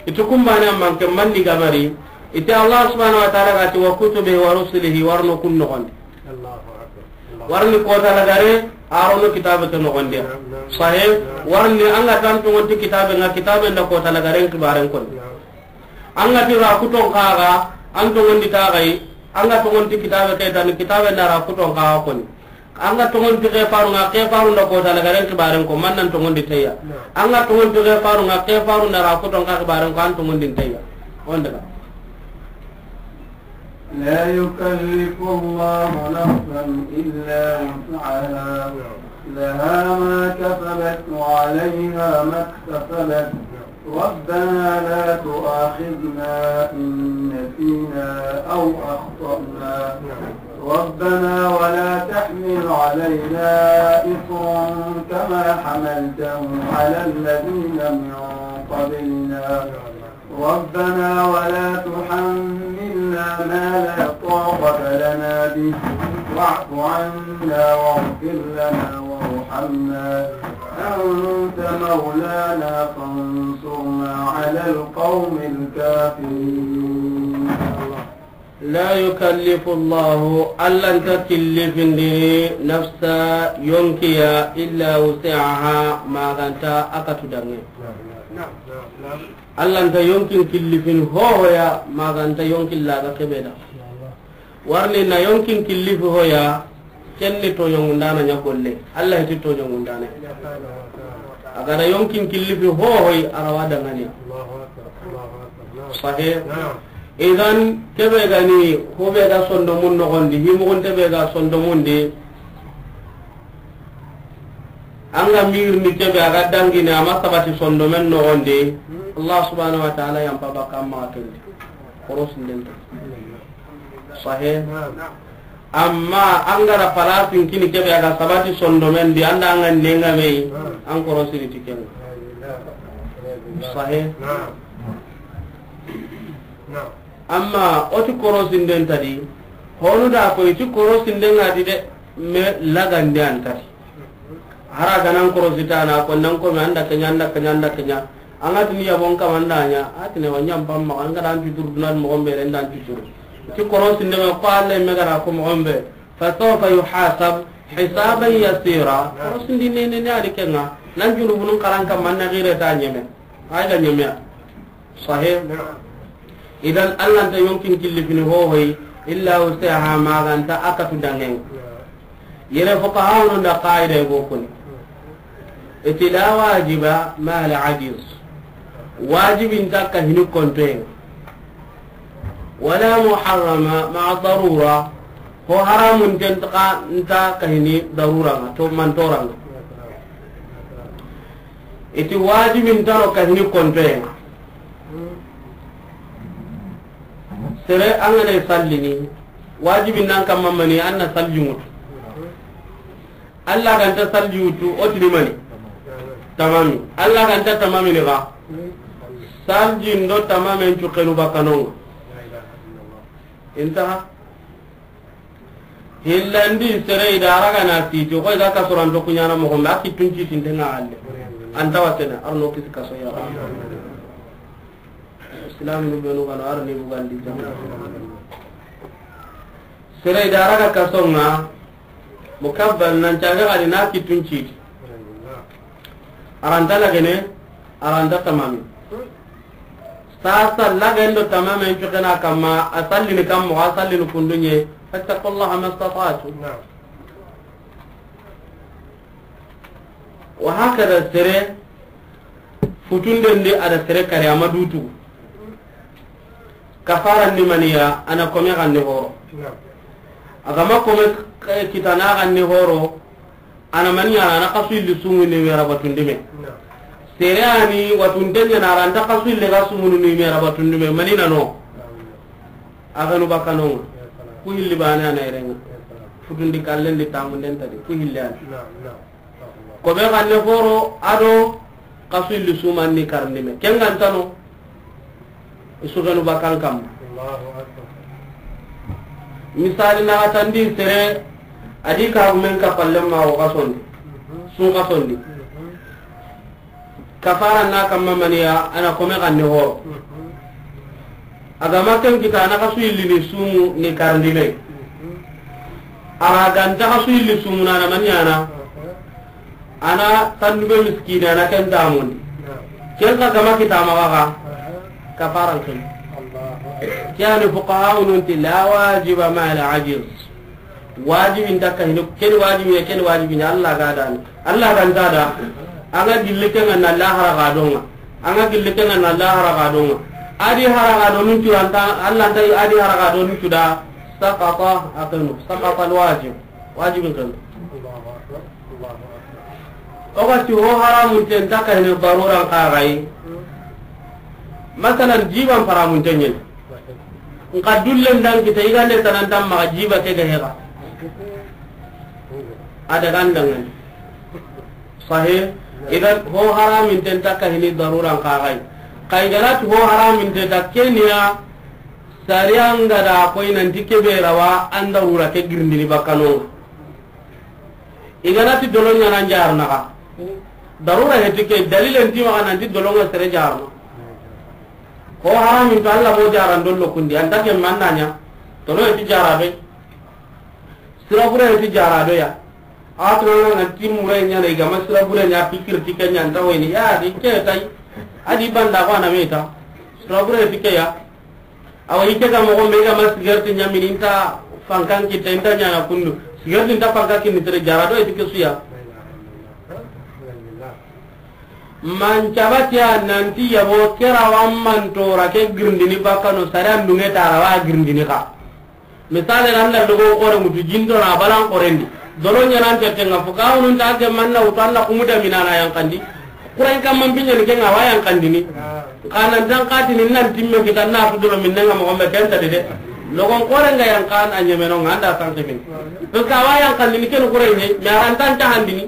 Iti kumbane manke mandi gamari, iti Allah subhanahu wa ta'ala ga ti wa kutubihi wa rusulihi, warno kun noxondi. Warni kota lagare, a rono kitabe ke noxondi. Sahih, warni an ga tan tonŋondi kitabe ŋa, kitabe nda kota lagaren kibaren koni. An ga ti ra kuton kaga, an tonŋondi tagai, an ga tonŋondi kitabe ke tan, kitabe nda ra kuton kaga koni. An ga tonŋondi ke faru ŋa, ke faru nda kota lagaren kibaren ko, man nan tonŋondi teya. An ga tonŋondi ke faru ŋa, ke faru nda ra kuton kaga kibaren ko, an tonŋondi teya. On daga. لا يكلف الله نفسا إلا وسعها، لها ما كسبت وعليها ما اكتسبت، ربنا لا تؤاخذنا إن نسينا أو أخطأنا، ربنا ولا تحمل علينا إصرا كما حملته على الذين من قبلنا، ربنا ولا تحملنا ما لا طاقة لنا به، واعف عنا واغفر لنا وارحمنا، أنت مولانا فانصرنا على القوم الكافرين. لا يكلف الله, Alla nta killifindini, nafsa, yonkiya, illa wus'aha, ma ga nta a katu danŋe. Alla nta yonkin killifini hohoya, ma ga nta yonkin laga kebe da. Warni na yonkin killifi hoya, ken ni toɲongundana ɲa golle. Alla heti toɲongundana. A ga da yonkin killifi hohoy, a ra wa danŋani. Sahih. Idan, kebe ga ni, hobe ga sondomun noxondi, himugunte be ga sondomun di, an ga mirni kebe a ga dangini, a ma sabati sondomen noxondi, Allah subhanahu wa ta'ala yampa baka amma kendi. Korosinden ta. Sahe. Amma an ga ra palasin kini kebe a ga sabati sondomen di, an da an ga nenga me yi, an korosini ti ken ŋa. Sahe. Amma o ti korosinden ta di, honu da ko i ti korosinden ŋa di de, me lagande an ta di. Hara ga nan korosita na ko nan ko me an da ke ɲa, an da ke ɲa, an da ke ɲa. An ga tini yabon kamanda ɲa, a tini wa ɲam pamma, an ga dan tuturu dunan moxon be ren dan tuturu. Ti korosinden ŋa ko Allah me ga ra ko moxon be. Fa sawfa yuhasab hisaban yasira. Korosindi ne ne ne a di ken ŋa. Nan junubunun karan kamma na gire ta ɲeme. Ay ga ɲeme ya. Sahe. Idan Allah nta yonkin killi fini hohoy, illa wusaha, ma ga nta a katu dangen. Yere fuqahaunu nda qaida go kuni. Iti la wajiba ma al ajiz. Wajibin ta ka hini kontoyen. Wala muharrama ma darura. Ho haramun ten ta ka nta ka hini darura ŋa, to man toranga. Iti wajibin ta ro ka hini kontoyen. Sere an ga na sallini, wajibin nan kamma mani an na salli ŋutu. Allah ga nta salli wutu, o tini mani? Tamami. Allah ga nta tamami ni ga. Salli ndo tamamen cu kenu bakanon ŋa. Intaha. Hillandi sere i da raga na siti, ko i ga kasoranto kuɲana moxo be, a kittun citinte ŋa halle. An ta wasene, ar no kisi kaso ya. Islam ni benu gano ar ni bugandi jam. Sere i da raga kaso ŋa, mukabbal nan caga gadi na kittun citi. Aranta lagene, aranta tamami. Sasa lagendo tamamen cukena kamma, a sallini kammo, a sallini kundunye, fattaqullaha mastata'tu. Wa hakada sere, futunden di a da sere kari a ma dutu. Kafaran ni maniya, a na kome xanne horo. A ga ma kome k-, kitana xanne horo, a na maniya, a na xasu illi sumu ni mera batundi me. Sere a ni watunten ɲa na, aranta xasu illi ga sumunu ni mera batundi me, mani na no. A ga nu bakanon ŋa. Ku hilli bane a na irenga. Futundi kallen di tamunden ta di, ku hilli a ni. Ko be xanne horo a do xasu illi suman ni karndi me. Ken ga nta no, i su genu bakan kamma. Misali na xatandi sere, a di kagumen kapallen ma wo xasondi. Sun xasondi. Kafara na kamma maniya, a na kome xanne horo. A ga ma ken kita, a na xasu illi ni sumu ni karndi me. A ra ga nta xasu illi sumu na, a na maniya na. A na tandube miskini, a na ken tamundi. Ken xa ga ma kita ma ga, kafaran ken. Ke a ni fuqahaunun ti la wajiba ma al ajiz. Wajibin ta ka hini, ken wajibi ya, ken wajibi ya, Allah ga dani. Allah ga nta da. An ga gilli ken ŋa na lahara ga don ŋa. An ga gilli ken ŋa na lahara ga don ŋa. A di hara ga don nun tu anta, Allah nta a di hara ga don nun tu da. Saqata, a kenu. Saqata al wajib. Wajibin kenu. O ga ti ho haramun ten ta ka hini daruran xa ga yi. Masalan, jiban haramun ten ɲen. Nka dullen dan kita, i ga nde tanantan maxa jiba ke ga hega. A daga ndangani. Sahe, idan ho haramin ten ta ka hini daruran xa ga yi. Xa i ga na ti ho haramin ten ta keniya, sariya nga da koy nanti kebe rawa an darura ke girindini bakanon ŋa. I ga na ti dolo ɲana n jarana xa. Darura heti ke, dalilen ti maxa nanti dolo ŋa sere jarana. Ho haramin to Allah mo jaran dollo kundi, anta ke manna ɲa. Dolo heti jara be. Sira bure heti jara do ya. A to na nanti mure ɲana i ga ma sira bure ɲa, pikir ti ke ɲa nta wayni. Ya di ke tay. A di banda ko a na me ta. Sira bure heti ke ya. Awa, i ke ga moxo be ga ma sigarti ɲamini, i nta fankan kitta, i nta ɲana kundu. Sigarti nta fankan kinni tere jara do, i ti ke su ya. Man cabati a nanti yabo ke rawa mantora ke girindini bakano, sare an dunge ta rawa girindini xa. Misali, randa dogo xore mutu jindo na balan xorendi. Dolo ɲanan tete nga fuka, unun ta ke manna utu anna kumuda minana yankandi. Kuren kamman binyani ke nga wa yankandini. Xa nan tan xatini nan timme kita na su dolo minne ŋa moxo be ken ta de. Logon xoore ŋa yan xa a ɲeme no ŋa an da sanke min. Parce que a wa yan xandini ken xoore ɲi, mais a ra nta tahandini.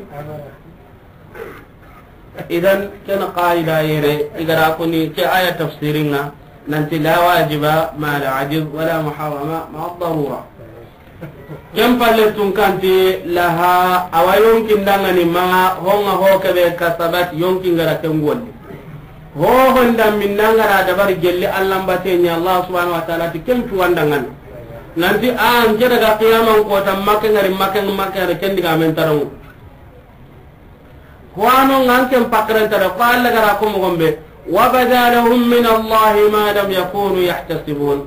Idan, ken qaida yere, i ga ra koni ke aya tafsirin ŋa, nanti la wajiba ma al ajiz wala muharrama ma al darura. Ken palle tun kanti laha, a wa yonkin dangani ma, ho ŋa ho ke be kasabat, yonkin ga ra ken golli. Ho honda minna ŋa ra dabari gelli Allah mbate ɲa, Allah subhanahu wa ta'ala ti ken tu wandangani. Nanti an ke daga qiyaman kota, make ŋari, make, make ŋari, ken diga men tarongo. Ko ano ŋa an ken pakrenta da, ko Allah ga ra ko moxo be, wa bada lahum min Allahi ma lam yakunu yahtasibun.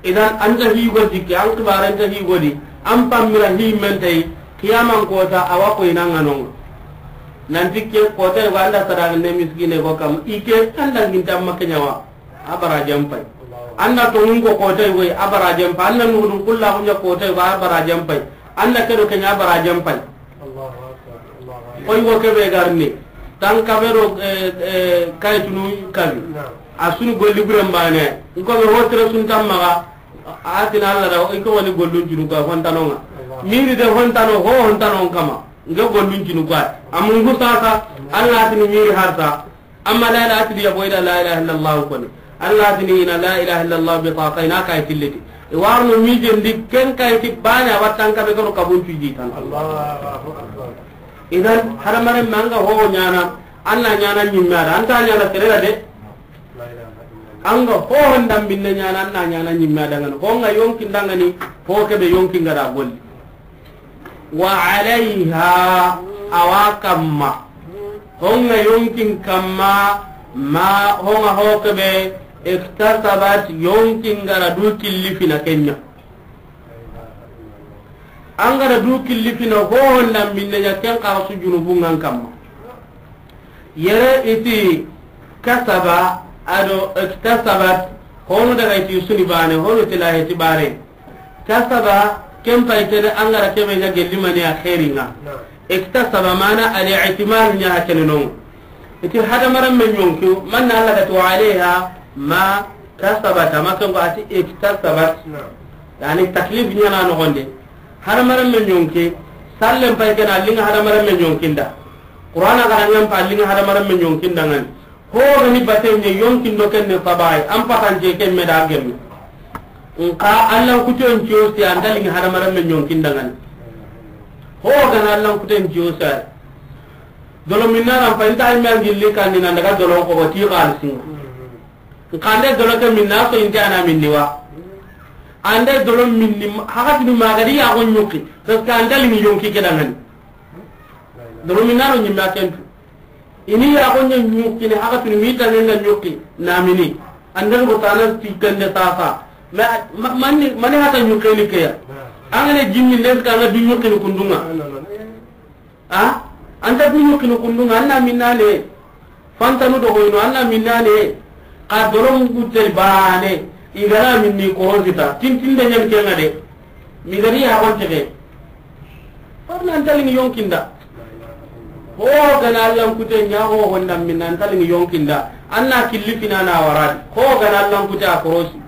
Idan, an ta higo dikke, an kibaren ta higo di, an pammira hi men tay, qiyaman kota, a wa ko ina ŋa no ŋa. Nanti ke kota, i wa an da sadaqande miskine ko kam, i ke an da ginta ma ke ɲa wa. A barajen pay. An na tonŋun ko kota yogo yi, a barajen pay. An na nugudun kulla kunya kota yogo, a barajen pay. An na kedo kenya, a barajen pay. Allahu akbar, Allahu akbar. Koy wo kebe garni. Tan kabero, eh, eh, kay tunu kabi. Naam. A sunu golli buren bane. Nko be hotre sun tammaga. A tina Allah da, i ko woni gollun junu ko hontano ŋa. Allahu. Miri de hontano, ho hontano kama. Nge gollun junu ko. Amungu sasa, Allah tini miri harsa. Amma la ilaha illa, boyda la ilaha illallah koni. Allah dini ina la ilaha illallah bitaqayn, a kay tilliti. I warno mijendi ken kay ti bane a wattan kabe kano kabun cuji tan. Allahu akbar. Idan, hadamaren me an ga ho ɲana, an na ɲana ɲimme a da, an ta ɲana sere da de. An ga ho honda binne ɲana, an na ɲana ɲimme a da ŋa ni. Ho ŋa yonkin dangani, ho kebe yonkin ga da golli. Wa alayha, a wa kamma. Ho ŋa yonkin kamma, ma, ho ŋa ho kebe, iktasabat, yonkin ga ra du killi fina kenya. An ga ra du killi fina ho honda minne ɲa ken xa su junubun ŋa an kamma. Yere i ti kasaba, a do iktasabat, honu daga i ti suni bane, honu ti lahe ti bare. Kasaba, ken pay tene an ga ra kebe ɲa gelli mani a xeeri ŋa. Naam. Iktasaba mana al-i'timal ɲa kene no. I ti hadamaren me ɲonki, man na Allah ga ti wa alayha ma kasabat, ama ken ko a ti iktasabat. Naam. Yani taklif ɲa na noxon de. Hadamaren me ɲonki, sallen pay ken a linga hadamaren me ɲonkinda. Qur'ana ga ra ɲa n pa a linga hadamaren me ɲonkinda ŋa ni. Ho ga ni baten ɲa yonkin do ken ne sabaye, an patance ken me da gemme. Nka Allah kuten ciyo si an ta lingi hadamaren me ɲonkinda ŋa ni. Ho ga na Allah kuten ciyo si. Dolo minna ran pa inta ay me an gilli kan ni nan daga dolo ko ti xalisi. Nka ande dolo ke minna so inte a na minni wa. Ande dolo minni, hakati ni magadi ya go ɲuki. Parce que an ta lingi yonki ke da ŋa ni. Dolo minna ro ɲimma kentu. I ni ya go ɲa ɲuki ni hakati ni mi ta ne na ɲuki na mini. Ande go tana ti kende sasa. Ma, ma, mani, mani hata ɲuki ni ke ya. An ga ne jinni ne ka na du ɲuki ni kundu ŋa. A? An ta du ɲuki ni kundu ŋa, an na minna ne. Fantanu do hoyno, an na minna ne. Xa dolo mugu te bane. I ga na minni korosita. Tintinde ɲan ke ŋa de. Mi gari ya gon tege. Farna an ta lingi yonkinda. Ho ga na Allah kute ɲa ho honda minna an ta lingi yonkinda. An na killi fina na waradi. Ho ga na Allah kute a korosi.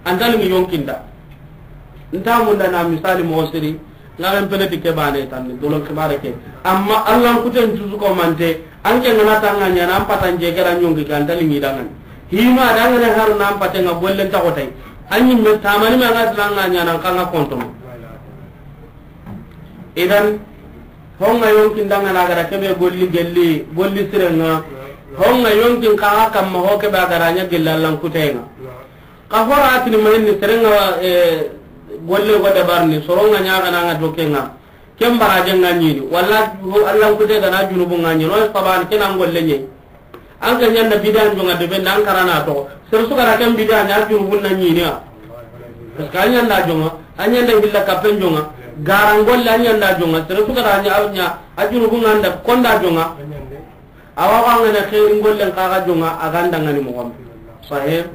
An ta lingi yonkinda. Nta munda na misali mo siri. Ŋaren pene ti ke bane tanni, dolon xibare ke. Amma Allah kuten cusu ko mante, an ke ŋa na tanga ɲana, an patance ke ra ɲonki ke, an ta lingi dangani. Hima dangane har na an pate ŋa gollen ta xotay. An ɲimme tamani ma ŋa tanga ɲana, an xa ŋa kontono. Idan, ho ŋa yonkin dangana a ga ra kebe golli gelli, golli siren ŋa. Ho ŋa yonkin xa ŋa kamma ho kebe a ga ra ɲa gelli Allah kuten ŋa. Xa hora tini mayni sere ŋa, eh, golle go dabarni, soro ŋa ɲa ga na ŋa do ke ŋa. Ken baraje ŋa ɲini. Walla Allah kute ga na junubu ŋa ɲini. No saban ke na golle ɲi. An ga ɲanda bidan jonga de ben an karana to. Sere su ga ra ken bidan ɲa junubu na ɲini ya. Parce que an ɲanda jonga, an ɲanda hilla kapen jonga. Garan golle an ɲanda jonga. Sere su ga ra ɲa, ɲa, a junubu ŋa nda konda jonga. Awa wa ŋa na xeeri gollen xa ga jonga, a ga nda ŋa ni mo gom. Sahih.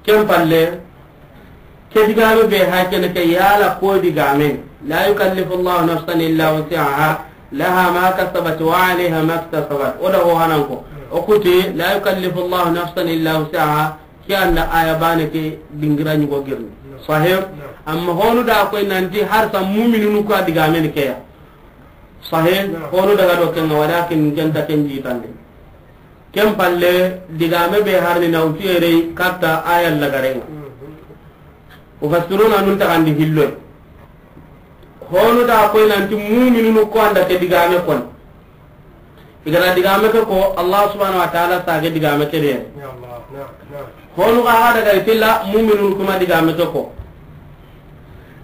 Ken palle, ke digame be ha kene ke yala ko digame. La yukallifu Allahu nafsan illa wus'aha. لها ما كسبت وعليها ما اكتسبت. O da ho hanan ko. O kuti, لا يكلف الله نفسا إلا وسعها. Ke anda aya bane ke dingira ɲugo girni. Sahih. Amma honu da koy nanti har sa mu'minunu ko digamen ke ya. Sahih. Honu daga do ken, walakin ken ta ken jitande. Ken palle, digame be harni na utu yere katta aya lagarenga. Mufassiruna nun taxandi hilloy. Honu da koy nanti mu'minunu ko anda ke digame kon. I ga da digame ke ko, Allah subhanahu wa ta'ala sage digame ke de. Ya Allah, naam, naam. Honu ga ga daga itilla mu'minunu kuma digame ke ko.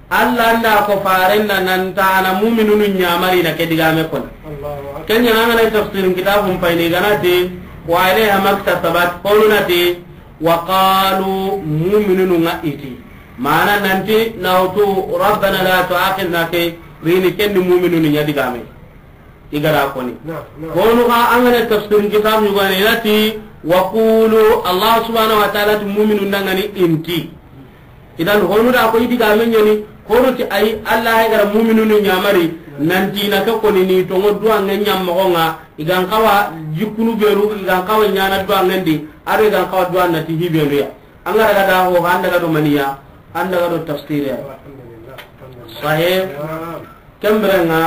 Allah nda ko farenna nan ta na mu'minunu ɲamari na ke digame kon. Allahu akbar. Ken ɲa ngana tafsirin kitabun payni ganati, وعليها ما اكتسبت, honu nati, وقالوا, mu'minunu nga iti. Mana nanti na utu ربنا لا تؤاخذنا ke, rini ken ni mu'minunu ɲa digame. I ga da koni. Naam, naam. Honu ga angana tafsirin kitab ɲugane inati, وقولوا, Allah subhanahu wa ta'ala ti mu'minun dangani inti. Idan honu da ko i digame ɲani, honu ti ay Allah ya gara mu'minunu ɲamari, nanti na ke koni ni tongo duwange ɲammoxo nga, i gan xawa jikkunu beru, i gan xawa ɲana duwangen di, ado i gan xawa duwan nati hibenu ya. An ga daga da ho, an daga do maniya, an daga do tafsir ya. Alhamdulillah. Sahih. Naam. Kembre nga,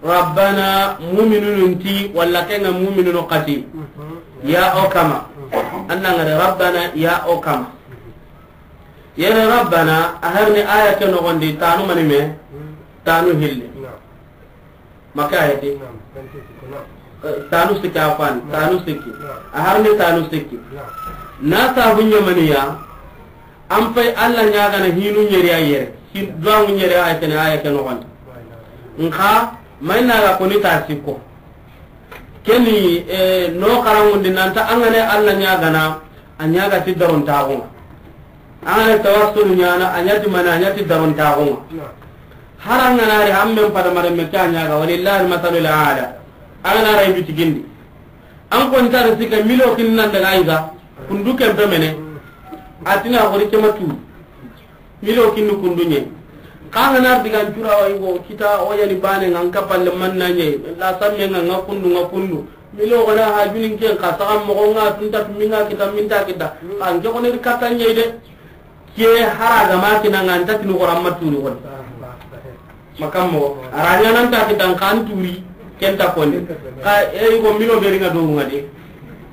Rabbana, mu'minunu nti, walla kenga mu'minunu kati. Ya o kama. Anna ngare Rabbana, ya o kama. Yere Rabbana, a harni aya ke nogondi, tanu manime, tanu hilli. Maka ayati. Eh, tanu sikki afan, tanu sikki. A harni tanu sikki. Na sabu ɲamaniya, An pay Allah ɲagana hinu ɲeri a yere. Hin, duwa mu ɲeri a kene aya ke noxon. Nxa, mayna ga koni ta sikko. Keni, eh, no xarangundi nanta angane Allah ɲagana, a ɲaga ti daron taxunga. Angane tawassul ɲana, a ɲati mana, a ɲati daron taxunga. Harangana ri hammen pada mare me ta ɲaga, walillahi al-masalul a'la. Angana ray bitigindi. An kon tar sika milo kin nan daga iga. Kundu kempe mene. Atina xori kema tu. Milo kinni kundu ɲe. Xa ngana digan cura wa igo kita o yani bane ngan kapalle manna ɲe. La samme nga nga kundu nga kundu. Milo gana ha junin ken ka saxam moxo nga tunta tuminga kita minta kita. Xa nke xone ri katta ɲe de. Ke hara gama kina nga anta kinu xora ma turi xon. Makammo, aranya nan ta kitan kan turi, ken ta koni. Ka, e, yugo mino beri nga do nga de.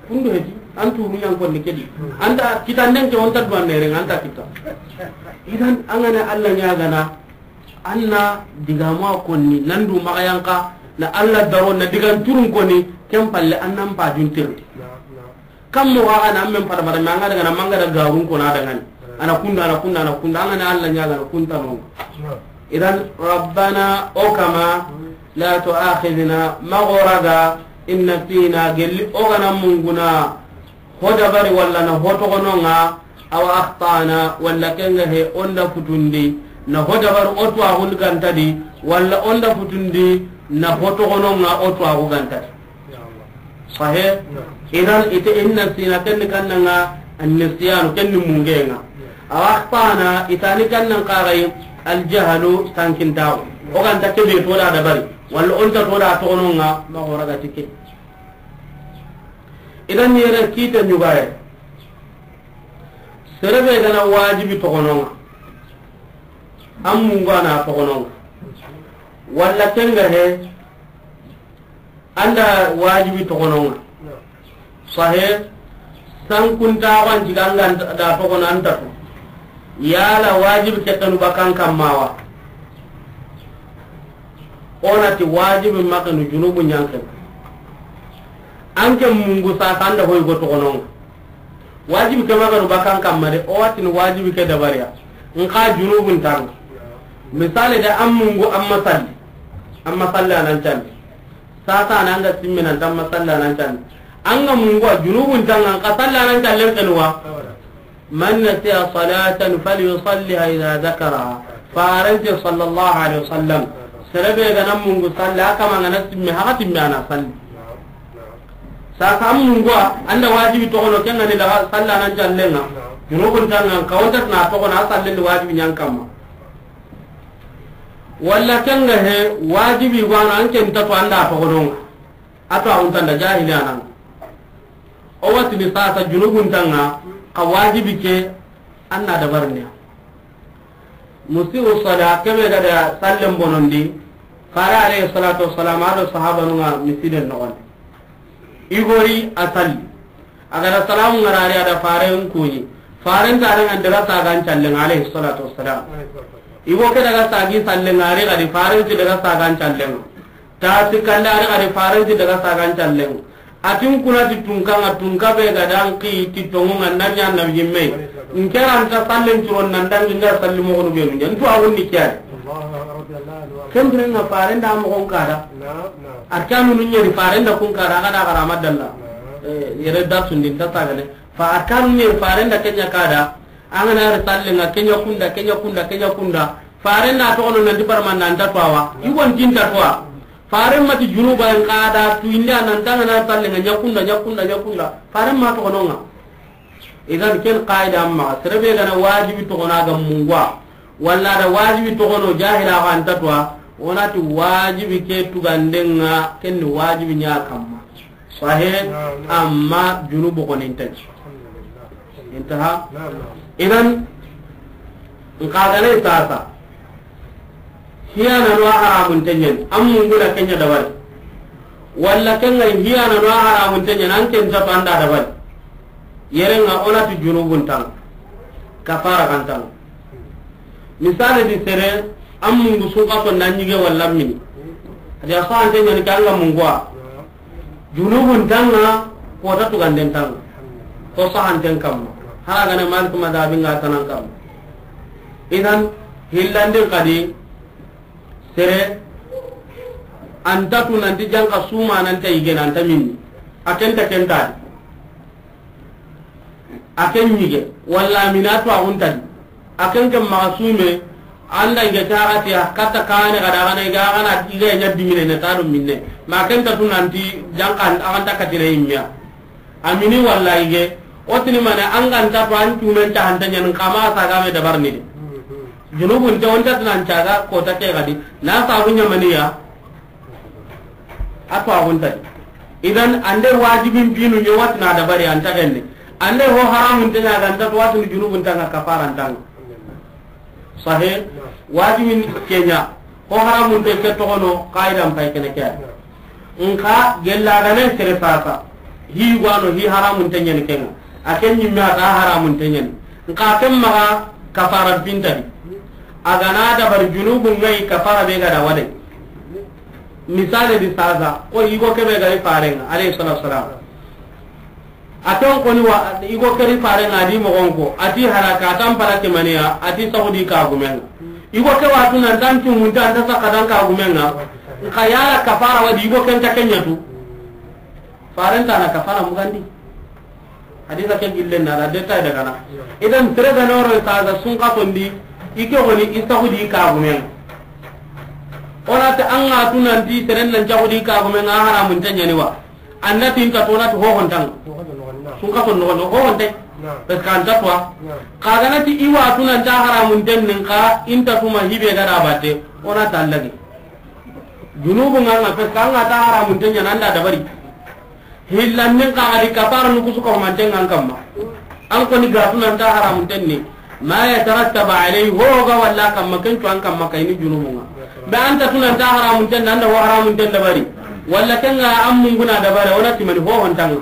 Kundu heti, an turu ɲan koni kedi. Anta kitan den ke onta duwan nere nga anta kita. Idan angane Allah ɲagana, anna digama koni, nandu magayanka, na Allah daro, na digan turun koni, ken palle annan pa juntirni. Kam mo ga na men pada pada me anga daga na manga da garun ko na daga ni. Ana kunda, ana kunda, ana kunda, anga na Allah ɲaga na kunta no. Idan Rabbana o kama la tu'akhidhna, ma goraga in nasina, gelli o gana munguna ho dabari walla na ho togononga, aw akhtana, walla kenga he onda futundi na ho dabari o tuwa gul gantadi, walla onda futundi na ho togononga o tuwa gu gantadi. Sahih. Idan ite in nasina ken ni kannanga an-nisyanu, ken ni mungenga. Aw akhtana, itani kannan kagai al-jahlu, tankintawo. O ganta kebe to da dabari, walla onta to da togononga, ma goraga tike. Idan yere kita ɲugaye. Serebe gana wajibi togononga, an mungana togononga, walla kenga he, anda wajibi togononga. Sahe, sankuntaxo an ciga anga da togono anta tu. Yala wajibi ke kanu bakan kammawa? Onati wajibi makanu junubu ɲanken. Anke mungu sasa anda hoy go togononga. Wajibi ke maganu bakan kamma de, o watini wajibi ke dabariya. Nka junubun tanga. Misali de, an mungu, an ma salli. An ma salli anan candi. Sasa anan ga simmina an ma salli anan candi. An ga mungu a junubun tanga, nka salli anan candi kenuwa. Man nasiya salatan falyusalliha idha dhakaraha. Farante sallallahu alaihi wasallam. Serebe gana mungu salli, a kama ngana simme, haka timme ana salli. Sasa an mungu a, anda wajibi togono, kenga ni daga salla nan jallenga. Junubun tanga, kawanta na togono, a sallen di wajibi ɲan kamma. Walla ken ga he, wajibi wa no, an ke nta to an da toxono ŋa. A to a xunta nda jahili a na ŋa. O wa tini sasa junubun ta ŋa, xa wajibi ke, an na dabarini ya. Musiu sala, ke be ga da sallen bonondi, Fare alayhi salatu wassalam, a do sahabanun ŋa misiden noxondi. I gori a salli. A ga da salamu ŋarari, a da Faren kuɲi. Faren ta daga n daga sagan callen ŋa, alayhi salatu wassalam. I go ke daga sagi sallen ŋa, a ri gadi Faren ti daga sagan callen ŋa. Ta ti kanda, a ri gadi Faren ti daga sagan callen ŋa. A tin kuna ti tunka ŋa, tunka be ga da an ki ti tonŋu ŋa, na ɲa na yimme. N ke ra nta sallen curon nan dangi n ga salli moxonu be nu ɲa. N tu a wunni kiyani. Ken biren ŋa Faren da moxon kada. Arkanu nu ɲeri Faren da kun kada, a ga da xara ma dalla. Eh, yere da sundin ta sagane. Fa arkanu nu ɲeri Faren da ke ɲa kada. An ga na ri sallen ŋa, ke ɲa kunda, ke ɲa kunda, ke ɲa kunda. Faren da toxono nan ti barman nan ta tuwa. I gon tin ta tuwa. Faren ma ti junuba n kada tu inda nan ta ga na ri sallen ŋa, ɲa kunda, ɲa kunda, ɲa kunda. Faren ma toxono ŋa. Idan ken qaida amma, sere be ga na wajibi toxono a ga mungu wa, walla a da wajibi toxono jahila ga nta tuwa, o na ti wajibi ke tuganden ŋa, ken ni wajibi ɲa kamma. Sahih, naam, naam. Amma junubu ko nin tan. Alhamdulillah. Intaha? Naam, naam. Idan, n xa ga ne sasa. Hiyana no a haramun ta ɲani, an mungu na ke ɲa dabari. Walla ken ŋa hiyana no a haramun ta ɲani, an ke nta to an da dabari. Yere ŋa o na ti junubun ta ŋa. Kafara kan ta ŋa. Misali di sere, an mungu sunka ko na ɲige walla mini. A di a sahante ɲani ke an ga mungu wa. Junubun ta ŋa, ko ta tuganden ta ŋa. Ko sahanten kamma. Hara ga ne Malik madhabi ŋa tanan kamma. Idan, hillanden kadi, sere, an ta tu nan ti janka suma nan ta yige nan ta minni. A ken ta ken ta di. A ken ɲige, walla mina tu a xunta di. A ken ken maxa sume, an da yige ta ga ti a katta kane ga da ga na i ga ga na i ga ɲa dimine ne ta do minne. Ma ken ta tu nan ti janka an ta katine yimmiya. A mini walla yige, o tini mane an ga nta to an cumen ta hanta ɲani kama saga me dabarni de. Junubun te on ta nan caga ko ta ke gadi, na sabu ɲamaniya. A to a gunta. Idan ande wajibin binu ɲo watina dabari an ta genne. Ande ho haramun te ɲa ga nta to watini junubun ta ŋa kafara nta ŋa. Sahih. Wajibin ke ɲa. Ho haramun te ke toxono, qaidan pay kene ke. Nka gella gane sere sasa. Hi gwano hi haramun te ɲani ke ŋa. A ken ɲimme a ta haramun te ɲani. Nka ken maxa kafara pinta di. A ga na dabari junubun ŋa yi kafara be ga da wade. Misale di sasa, ko yigo kebe ga ri Faren ŋa, alayhi salatu wassalam. A ton koni wa, yigo ke ri Faren ŋa a di moxon ko, a ti halaka, a tan pala ke maniya, a ti saxudi kagumen ŋa. Yigo ke watu nan tan cumunta, an ta saka dan kagumen ŋa. Nka yala kafara wadi yigo ken ta ke ɲa tu. Faren ta na kafara mugandi. Hadisa ke gillen na da detail daga na. Idan sere ga noro ta ga sunka tondi, i ke woni i saxudi kagumen ŋa. O na ta an ga tu nan ti seren nan saxudi kagumen ŋa haramun ta ɲani wa. An na ti nta to na ti hohon ta ŋa. Sunka to noxon, hohon te. Parce que an ta to. Xa ga na ti i watu nan ta haramun ten nin xa, i nta tuma hibe ga da batte. O na ta lagi. Junubu ŋa ŋa, parce que an ga ta haramun ten ɲa nan da dabari. Hillan nin xa ga di kafara nu kusu ko man ten ŋa an kamma. An koni ga tu nan ta haramun ten ni. Ma yatarattabu alayhi, ho ga walla kamma, ken tu an kamma kayini junubu ŋa. Be an ta tu nan ta haramun ten, nan da ho haramun ten dabari. Walla ken ŋa an munguna dabari, o na ti mani hohon ta ŋa.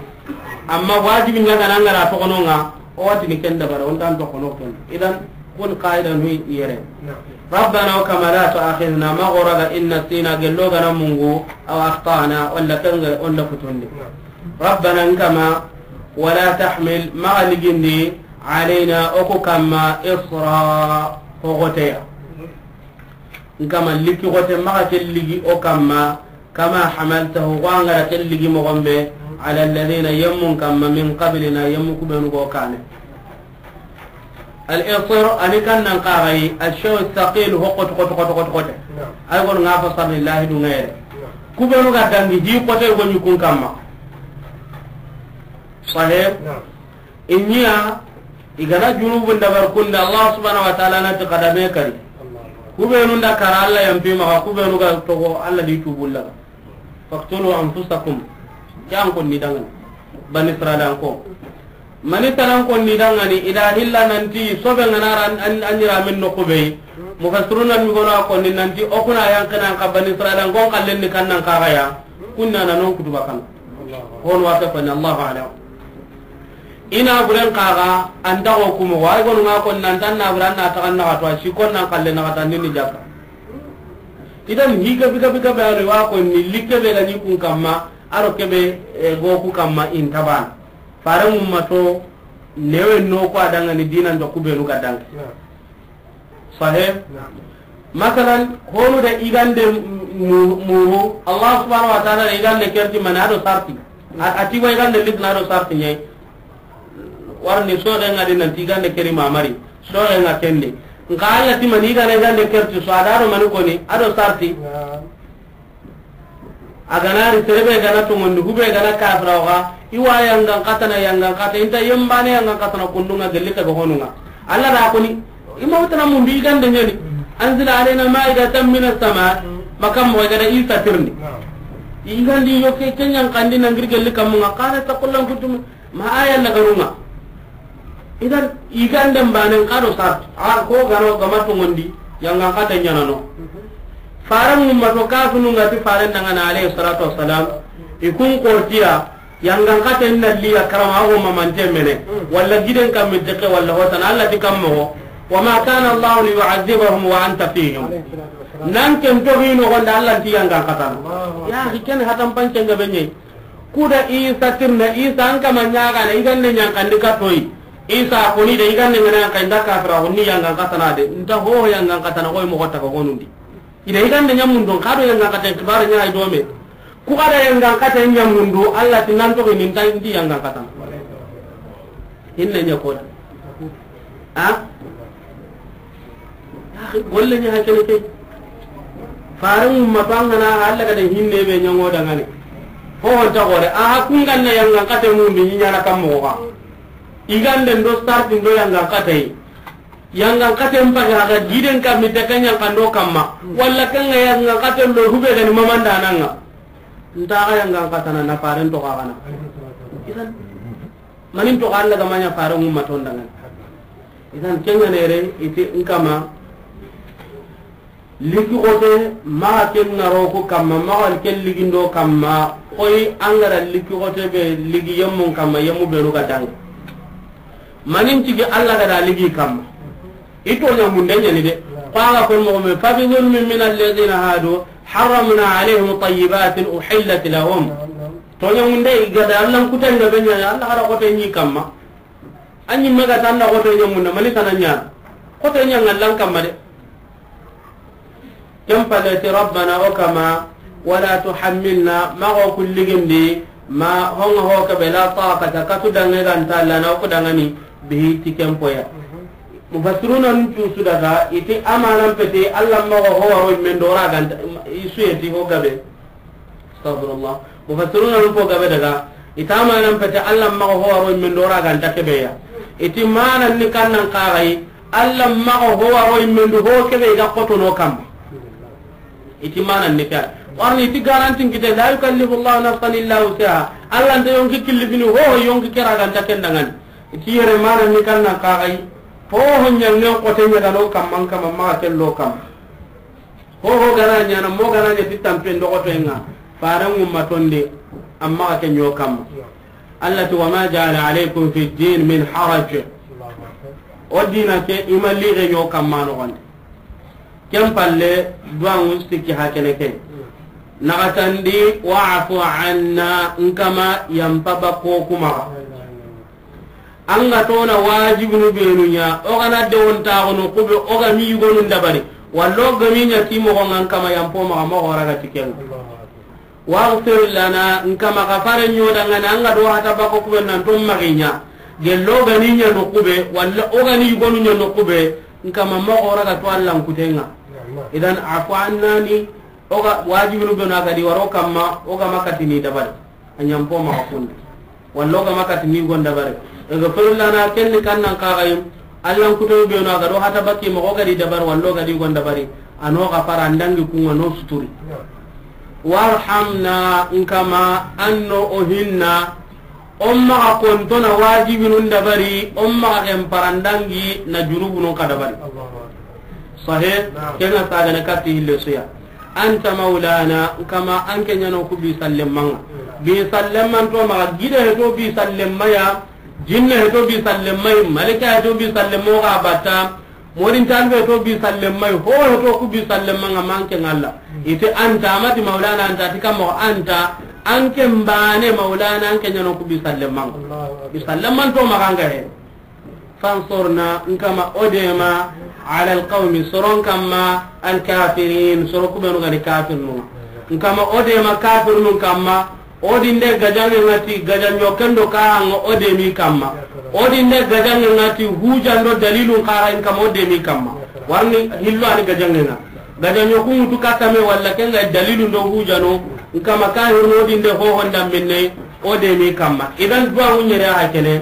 Amma wajibi ɲa ga na ŋa ra toxono ŋa, o watini ken dabari, o nta an toxono ken. Idan, kun qaida nu yere. Rabbana wa kama la tu'akhidhna, ma goraga in nasina, gello ga na mungu, aw akhtana, walla ken ŋa, o nda futundi. Rabbana n kama, wala tahmil, maxa ligindi, alayna, o ku kamma, isra, hogoteya. N kama liki gote maxa ke ligi o kamma, kama hamaltahu, xo an ga da ke ligi moxon be, ala alladhina, yemmun kamma, min qablina, yemmu kubenu go kane. Al isr, ani kan nan xaxayi, al shay thaqil, ho xote, xote, xote, xote, xote. Ay gon ŋa fasarni lahidu ŋa yere. Kubenu ga dangi, hi xote go ɲi kun kamma. Sahih? I ɲiya, i ga na junubun dabar kunda, Allah subhanahu wa ta'ala na ti xadame kari. Ku beenu nda kara Alla yanpi maxa, ku beenu ga toxo Alla di tuubu laga. Faqtulu anfusakum. Ke an konni dangani. Bani Israila an ko. Mani tanan konni dangani, i da hilla nanti, sobe ngana ra an, an, an yiramen noxu be. Mufassiruna mi gono a konni nanti, o kuna yanqina an xa Bani Israila an ko n xallen ni kannan kaxaya. Kunna na non kutuba kan. Hon wa ta konni, Allahu a'lam. I na buren kaxa, an ta xo kumo, wa i gonu nga konni nan tan na buran na taxan naxa to, a si kon nan xalle naxa tan ni jakka. Idan hi gabi gabi gabi anu wa konni, li kebe ga ni kun kamma, aro kebe, eh, go ku kamma in taban. Fare mumma to, newe no ko a dangani dinan do ku benu ga dangi. Sahih? Naam. Masalan, honu da i gande mu-, muru, Allah subhanahu wa ta'ala da i gande kerti mani a do sarti. A, a ti wa i gande litna a do sarti ɲai. Warni soxe nga di nanti i gande keri mamari. Soxe nga kende. Nka Allah ti mani i gande, i gande kerti so a da do mani koni, a do sarti. Naam. A ga na ri sere be ga na tongondi, hube ga na kafira o ga, i wa yangan katana yangan kata, i nta yembane yangan katana kundunga gelli ta ga honunga. Allah da koni, i ma wutana mundu i gande ɲani. Anzil alayna ma'idatan minas sama, makam mo ga da Isa tirni. I gandi yo ke, ke ɲan kandi na ngir gelli kamunga, qala taqullan kuntum Ma aya na garunga. Idan, i ganden banen ka do sart. A ko gano gama tongondi, yangan kata ɲanano. Faran mumma to kafinu nga ti faren dangana alayhi salatu wassalam. I kun kortiya, yangan kata inna liya karama ago mamante mene. Walla giden kam mi deke walla hotana Allah ti kammo. Wa ma kana Allah li yu'adhibahum wa anta fihim. Nan ken to hino gonda Allah ti yangan kata. Ya, hi ken hatan pancen ga benye. Kuda Isa tirna, Isa an kama ɲagana, i gande ɲankandi katoyi. Isa koni de, i gande ŋana ɲankandi da kafira, koni yangan katana de. Nta ho yangan katana, koy moxo taga honundi. Ida i gande ɲamundu, kado yangan kata, kibara ɲa i dome. Ku kada yangan kata ɲamundu, Allah ti nan toxi ni nta ndi yangan katana. Hinne ɲa koda. Ha? Golle ɲa hakene ke. Fare mumma to an gana Allah ga da hinne be ɲango dangane. Ho honta gore. Aha kun ganna yangan kate mummi ɲana kammo ga. I gande ndo sarti ndo yangan kate. Yangan kate mpaga ga giden kammi takanya kando kamma. Walla kanga yangan kate ndo hube gani mamanda nanga. Nta ga yangan katana na faren to ga gana. Idan Manin to Allah ga maɲa fare mumma to ndangan. Idan kenya nere iti nkama liki xote maxa ken ŋaro ku kamma, maxa ken ligindo kamma, koy angara liki xote be ligi yemmun kamma, yemmu benu ga dangi. Manin tigi Allah ga da ligi kamma. I toɲa munde ɲani de. Ko a ga kon moxo me, fa bi zulmin min alladhina hadu harramna alayhim tayyibatin uhillat lahum. Toɲa munde i ga da Allah kuten ga be ɲa, Allah ga da xote ɲi kamma. An ɲi maga tan na xote ɲa munde, mani kana ɲa. Xote ɲa ngallan kamma de. Ken palle ti, Rabbana, o kama, wala tuhammilna, maxa o ku ligindi, ma honga ho ke be la taqata, katu dange ga nta lana o ku dangani, bihi ti ken poya. Mufassiruna nun tu su daga, iti amanan pete, Allah maxa ho waro men do ra ganta, i su yeti ho gabe. Astaghfirullah. Mufassiruna nun po gabe daga, ita amanan pete, Allah maxa ho waro men do ra ganta ke be ya. Iti manan ni kannan kagai, Allah maxa ho waro men do ho ke be ga koto no kam. Iti manan ni ka. Warni iti garantin kite, la yukallifu Allahu nafsan illa wus'aha. Allah nta yonki killifini ho, ho yonki ke ra ganta ken dangan. Iti yere manan ni kannan kagai. Ho ho ɲangen xote ɲa ga no kamman kama maxa kello kam. Ho ho gana ɲana, mo gana ɲa ti tampen do xoto nga. Faran mumma tonde, amma ke ɲo kamma. Allah ti, wa ma ja'ala alaykum fi din min haraj. O dina ke i ma lixe ɲo kamma no gonde. Ken palle, duwangu sikki hakene ke. Naxatandi, wa'fu anna, nkama yampa ba ko kuma. An ga tona wajibunu benu ɲa, o gana de wonta gono kube, o ga mi yugonu dabari. Wallo ga mi ɲa ti moxo nga nkama yampo maxa moxo raga ti ken. Waghfir lana, nkama xa fare ɲo dangana, an ga do hata bako kube nan to maxiɲa. Gello gani ɲa no kube, walla o gani yugonu ɲa no kube, nkama moxo raga to Allah nkutenga. Idan afu annani, o ga wajibinu benu a ga di waro kamma, o ga makatini dabari. A ɲampo maxa kundi. Wallo ga makati ni gonda bari. Ighfir lana, ken ni kannan kaxayim. Allah nkuto benu a ga do hata baki moxo ga di dabari, wallo ga di gonda bari. A no gafara, an dangi kun ŋa, no suturi. Warhamna, n kama, an no o hinna, o maxa konto na wajibinun dabari, o maxa ken parandangi na junubunun ka dabari. Sahe, ken ŋa sagana kati hille suya. Anta maulana, n kama, an ke ɲa no ku bi salleman ŋa. Bi salleman to maxa, gide he to bi salleman ya, jinne he to bi salleman ya, malika he to bi salleman ga bata, Morin talbe to bi sallemai, ho he to ku bi sallemanga manke ngalla. Ite anta, amati maulana anta, ti kamo anta, anke mbane maulana, anke ɲano ku bi sallemanga. Allahu akbar. Bi salleman to maganga he. Fansurna, n kama o dema, ala alqawmi, soron kamma, alkafirin, soro ku benu gani kafirnu. N kama o dema kafirnun kamma, o dinde gajange ŋa ti gajanjo kendo ka ŋa o demi kamma. O dinde gajange ŋa ti hujando dalilun kara in kama o demi kamma. Warni hillo ani gajange ŋa. Gajanjo ku ŋutu katame walla kenga dalilun do hujano. N kama kahirno o dinde hohonda minne o demi kamma. Idan duwa ŋuɲere a kene.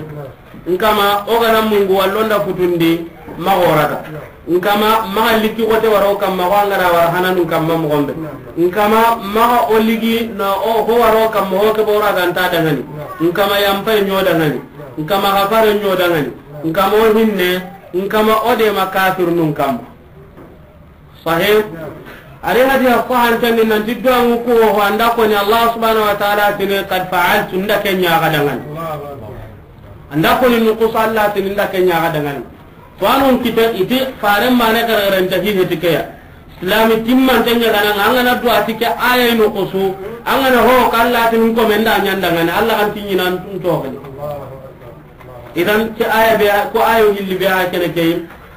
N kama o gana mungu wallo nda futundi, maxa o raga. N kama maxa likki xote waro kamma, xo an gana wara hananu kamma moxon be. N kama maxa o ligi na o ho waro kamma, ho ke bo raga nta dangani. N kama yampay ɲo dangani. N kama xafare ɲo dangani. N kama o hinne. N kama o dema kafirnun kamma. Sahih. Ari hadiya sahantandi nanti duwangu ku ho anda koni Allah subhanahu wa ta'ala tini qad fa'altu, nda ke ɲaxa dangani. Anda koni nukusu Allah tini nda ke ɲaxa dangani. To anun kita iti faren mane gargaranta hi heti keya. Islami timmante ɲagana nga, an gana duwa ti ke aya nukusu, an gana ho ka Allah tini ko men da ɲan dangani, Allah kan tinɲinan tun toxini. Idan ke aya be, ko ayo hilli be a kene ke.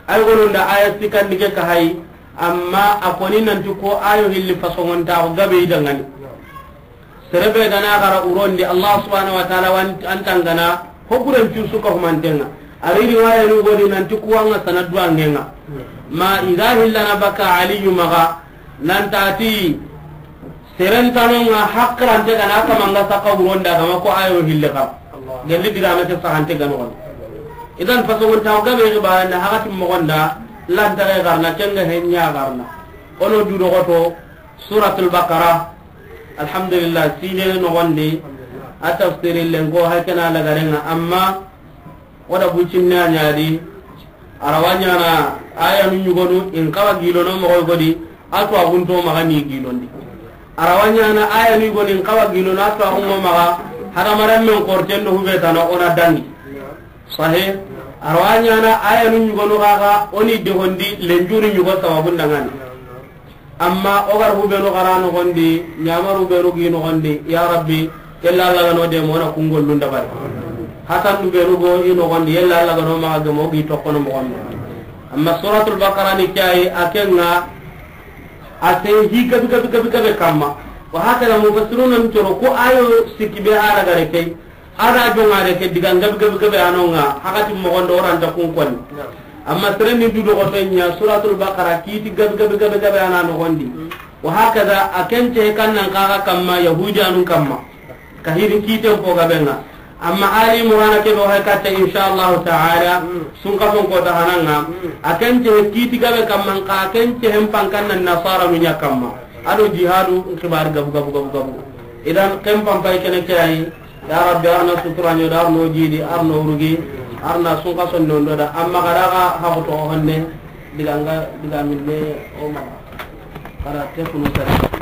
Ay gonunda aya sikandi ke ka hay, amma a koni nanti ko ayo hilli fasongontaxu gabe i dangani. Serebe gana gara urondi Allah subhanahu wa ta'ala wan antangana hoguren cusu ka humantenga. Ari riwaya nu godi nanti kuwanga sanadu angenga. Ma iga hillana baka Aliyu maga nantati Serentanonga hakkilante gana kamanga saka wuronda gama ko ayo hille kam. Allah. Gelli digame ke sahante gano. Idan fasogon taw gabe ga ba na hakati mogonda lanta ga garna kenga henya garna. Ono dudo goto Suratul Baqara. Alhamdulillah, sine no gonde. A tafsiri lengo hakana lagarenga amma Wada bucinne a ɲa di, a ra wa ɲaana ayanu ɲugonu in xawa gilono moxoy godi, a tuwaxunto maxa ni gilondi. A ra wa ɲaana ayanu ɲugonu in xawa gilono, a tuwaxunŋo maxa hadamarenmen xorten do hube tana o na dangi. Sahe, a ra wa ɲaana ayanu ɲugonu xaxa o ni dehondi lenjuru ɲugo sababun dangani. Amma o gar hubenu xara noxondi, ɲamaru benu gi noxondi, ya Rabbi, yella Alla gano de mona kungollun dabari. Hasandu benu go i noxondi, yella Alla gano maxa gemo gi toxono moxondi. Amma Suratul Baqara ni ke ayi, a kenga, a se hi gabi gabi gabi gabe kamma. Wa hakada mufassiruna ncoro ko ayo sikki be hala gare kay. A da jongare ke diga gabi gabi gabe anonga, hakati mogondo oranta kun koni. Amma seren ni du dogoto ɲa, Suratul Baqara, kiti gabi gabi gabi gabe ana nogondi. Wa hakada, a kence kan nan kaga kamma, Yahudiyanun kamma. Ka hiri kiten po gabenga. Amma Ali Imran ke do hay katta, insha Allah ta'ala, sun ka fon ko ta hananga. A kence kiti gabe kamma, ka kence hem pankan nan Nasara munya kamma. Ado jihadu, xibar gabu gabu gabu gabu. Idan, ken pampay kene ke ayi. Ya Rabbi, arna sutura ɲo da, arno jidi, arno urugi, arna sunka sonno ndo da, amma kada ga haxu to honne, diganga, digaminne, o ma. Kada te kunu sare.